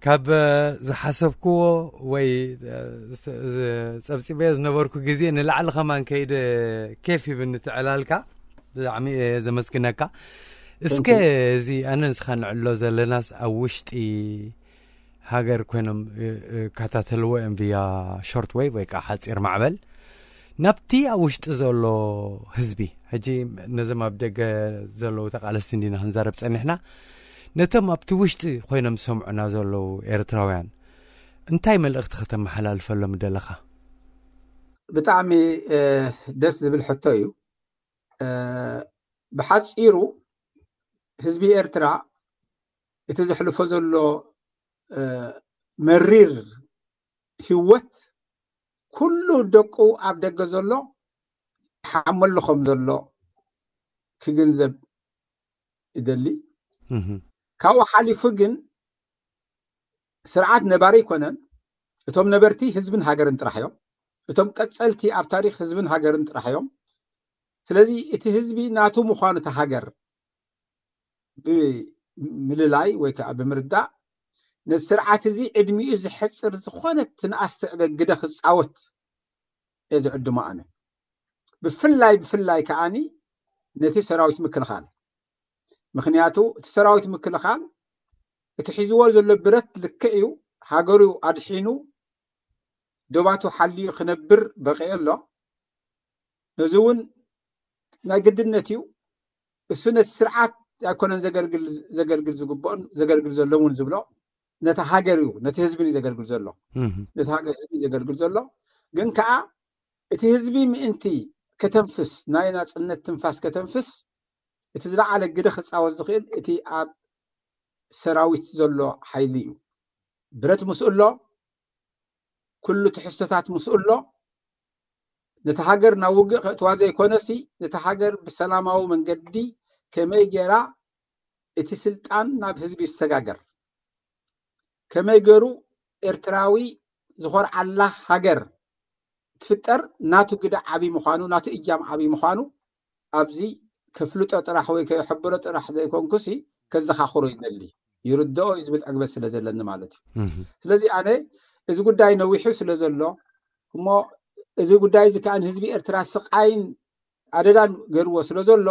ካብ ዝሓሰብክዎ ወይ ጸብጺበዮ ዝነበርኩ ግዜ ንላዕሊ ከማን ከይደ ኬፍ ይብኒ ትዕላልካ። ብጣዕሚ እየ ዘመስግነካ። እስከ እዚ ኣነ ንስኻ ንዕሎ ዘለናስ ኣብ ውሽጢ ሃገር ኮይኖም ይከታተልዎ እዮም ቪያ ሾርት ዌቭ ወይ ከዓ ሓፂር ማዕበል። ናብቲ ኣብ ውሽጢ ዘሎ ህዝቢ፣ ሕጂ ነዞም ኣብ ደገ ዘለዉ ተቓለስቲ እንዲና ክንዛረብ ጸኒሕና፣ ነቶም ኣብቲ ውሽጢ ኮይኖም ዝሰምዑና ዘለዉ ኤርትራውያን እንታይ መልእኽቲ ከተመሓላልፈሎም ደለኻ? ብጣዕሚ ደስ ዝብል ሕቶ እዩ። ብሓፂሩ ህዝቢ ኤርትራ እቲ ዘሕልፎ ዘሎ መሪር ህይወት ኩሉ ደቁ ኣብ ደገ ዘሎ ይሓመሉ ከም ዘሎ ክግንዘብ ይደሊ። ካብኡ ሓሊፉ ግን ስርዓት ነባሪ ኣይኮነን። እቶም ነበርቲ ህዝብን ሃገርን ጥራሕ እዮም። እቶም ቀፀልቲ ኣብ ታሪክ ህዝብን ሃገርን ጥራሕ እዮም። ስለዚ እቲ ህዝቢ ናቱ ምዃኑ እቲ ሃገር ብምልላይ ወይ ከዓ ብምርዳእ ነዚ ስርዓት እዚ ዕድሚኡ ዘሕፅር ዝኾነ ትንኣስ ትዕበ ግደ ክፃወት እየ ዝዕድሞ ኣነ። ብፍላይ ብፍላይ ከዓኒ ነቲ ሰራዊት ምክልኻል። ምክንያቱ እቲ ሰራዊት ምክልኻል እቲ ሒዝዎ ዘሎ ብረት ልክዕ እዩ፣ ሃገሩ ኣድሒኑ ዶባቱ ሓልዩ ክነብር በቂዑ ኣሎ። ነዚ እውን ናይ ግድነት እዩ። እሱ ነቲ ስርዓት ኣይኮነን ዘገልግል ዝግብኦን ዘገልግል ዘሎ እውን ዝብሎ ነቲ ሃገር እዩ፣ ነቲ ህዝቢ እዩ ዘገልግል ዘሎ። ነቲ ሃገር ህዝቢ እዩ ዘገልግል ዘሎ። ግን ከዓ እቲ ህዝቢ ምእንቲ ከተንፍስ፣ ናይ ናፅነት ትንፋስ ከተንፍስ፣ እቲ ዝለዓለ ግደ ክፃወት ዝኽእል እቲ ኣብ ሰራዊት ዘሎ ሓይሊ እዩ። ብረት ምስኡ ኣሎ፣ ኩሉ ትሕዝቶታት ምስኡ ኣሎ። ነቲ ሃገር ናብ ውግእ ከእትዋ ዘይኮነሲ ነቲ ሃገር ብሰላማዊ መንገዲ ከመይ ጌራ እቲ ስልጣን ናብ ህዝቢ ይሰጋገር፣ ከመይ ገሩ ኤርትራዊ ዝኾርዓላ ሃገር ትፍጠር ናቱ ግደ ዓብይ ምዃኑ፣ ናቱ እጃም ዓብይ ምዃኑ ኣብዚ ከፍልጦ ጥራሕ ወይ ከሕብሮ ጥራሕ ዘይኮንኩሲ ከዘኻኽሮ ይደሊ። ይርድኦ እዩ ዝብል ዕግበት ስለ ዘለኒ ማለት እዩ። ስለዚ ኣነ እዚ ጉዳይ ነዊሑ ስለ ዘሎ እሞ እዚ ጉዳይ እዚ ከዓ ንህዝቢ ኤርትራ ስቃይን ኣደጋን ገርዎ ስለ ዘሎ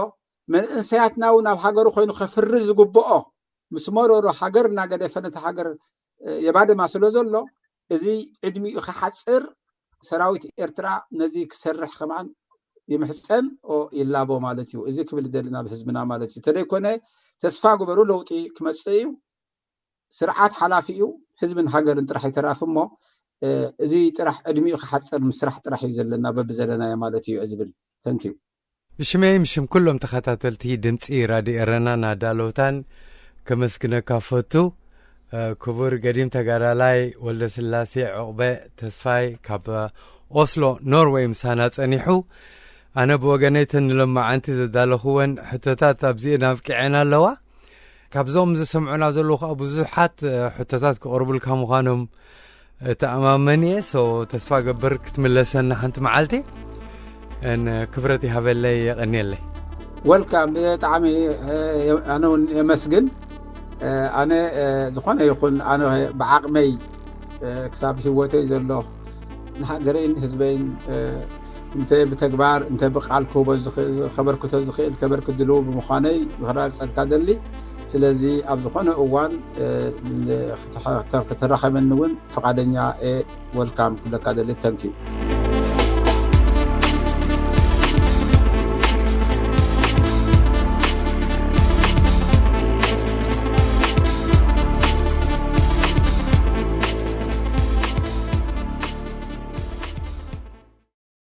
መንእሰያትና እውን ኣብ ሃገሩ ኮይኑ ከፍሪ ዝግብኦ ምስ መረሮ ሃገር እናገደፈ ነቲ ሃገር የባድማ ስለ ዘሎ እዚ ዕድሚኡ ክሓፅር ሰራዊት ኤርትራ ነዚ ክሰርሕ ከማን ይምሕፀን ይላቦ ማለት እዩ። እዚ ክብል ደሊ ናብ ህዝብና ማለት እዩ። ተደይኮነ ተስፋ ግበሩ፣ ለውጢ ክመፅእ እዩ። ስርዓት ሓላፊ እዩ፣ ህዝብን ሃገርን ጥራሕ ይተራፍ እሞ እዚ ጥራሕ ዕድሚኡ ክሓፀር ምስራሕ ጥራሕ እዩ ዘለና በብዘለናዮ ማለት እዩ ዝብል። ተንኪዩ። ብሽመይ ምሽም ኩሎም ተኸታተልቲ ድምፂ ራድዮ ኤረና ናዳለውታን ከመስግነካ ፈቱ። ክቡር ገዲም ተጋዳላይ ወልደ ስላሴ ዕቑበ ተስፋይ ካብ ኦስሎ ኖርወይ ምሳና ጸኒሑ። ኣነ ብወገነይ ተን ሎማዓንቲ ዘዳለኹወን ሕቶታት ኣብዚኤን ኣብቂዐን ኣለዋ። ካብዞም ዝሰምዑና ዘለዉ ከዓ ብዙሓት ሕቶታት ክቕርቡልካ ምዃኖም እተኣማመን እየ። ሶ ተስፋ ገብር ክትምለሰና ሓንቲ መዓልቲ። ን ክብረት ይሃበለይ፣ የቐንየለይ። ወልካም። ብጣዕሚ ኣነ እውን የመስግን። ኣነ ዝኾነ ይኹን ኣነ ብዓቕመይ ክሳብ ህይወተይ ዘሎ ንሃገረይን ህዝበይን እንተ ብተግባር እንተ ብቃል ክህቦ ከበርክቶ ዝኽእል ከበርክት ድልው ብምዃነይ ክረጋግፀልካ ደሊ። ስለዚ ኣብ ዝኾነ እዋን ከተራኸበኒ እውን ፍቓደኛ እየ። ወልካም ክብለካ ደሊ። ተንኪዩ።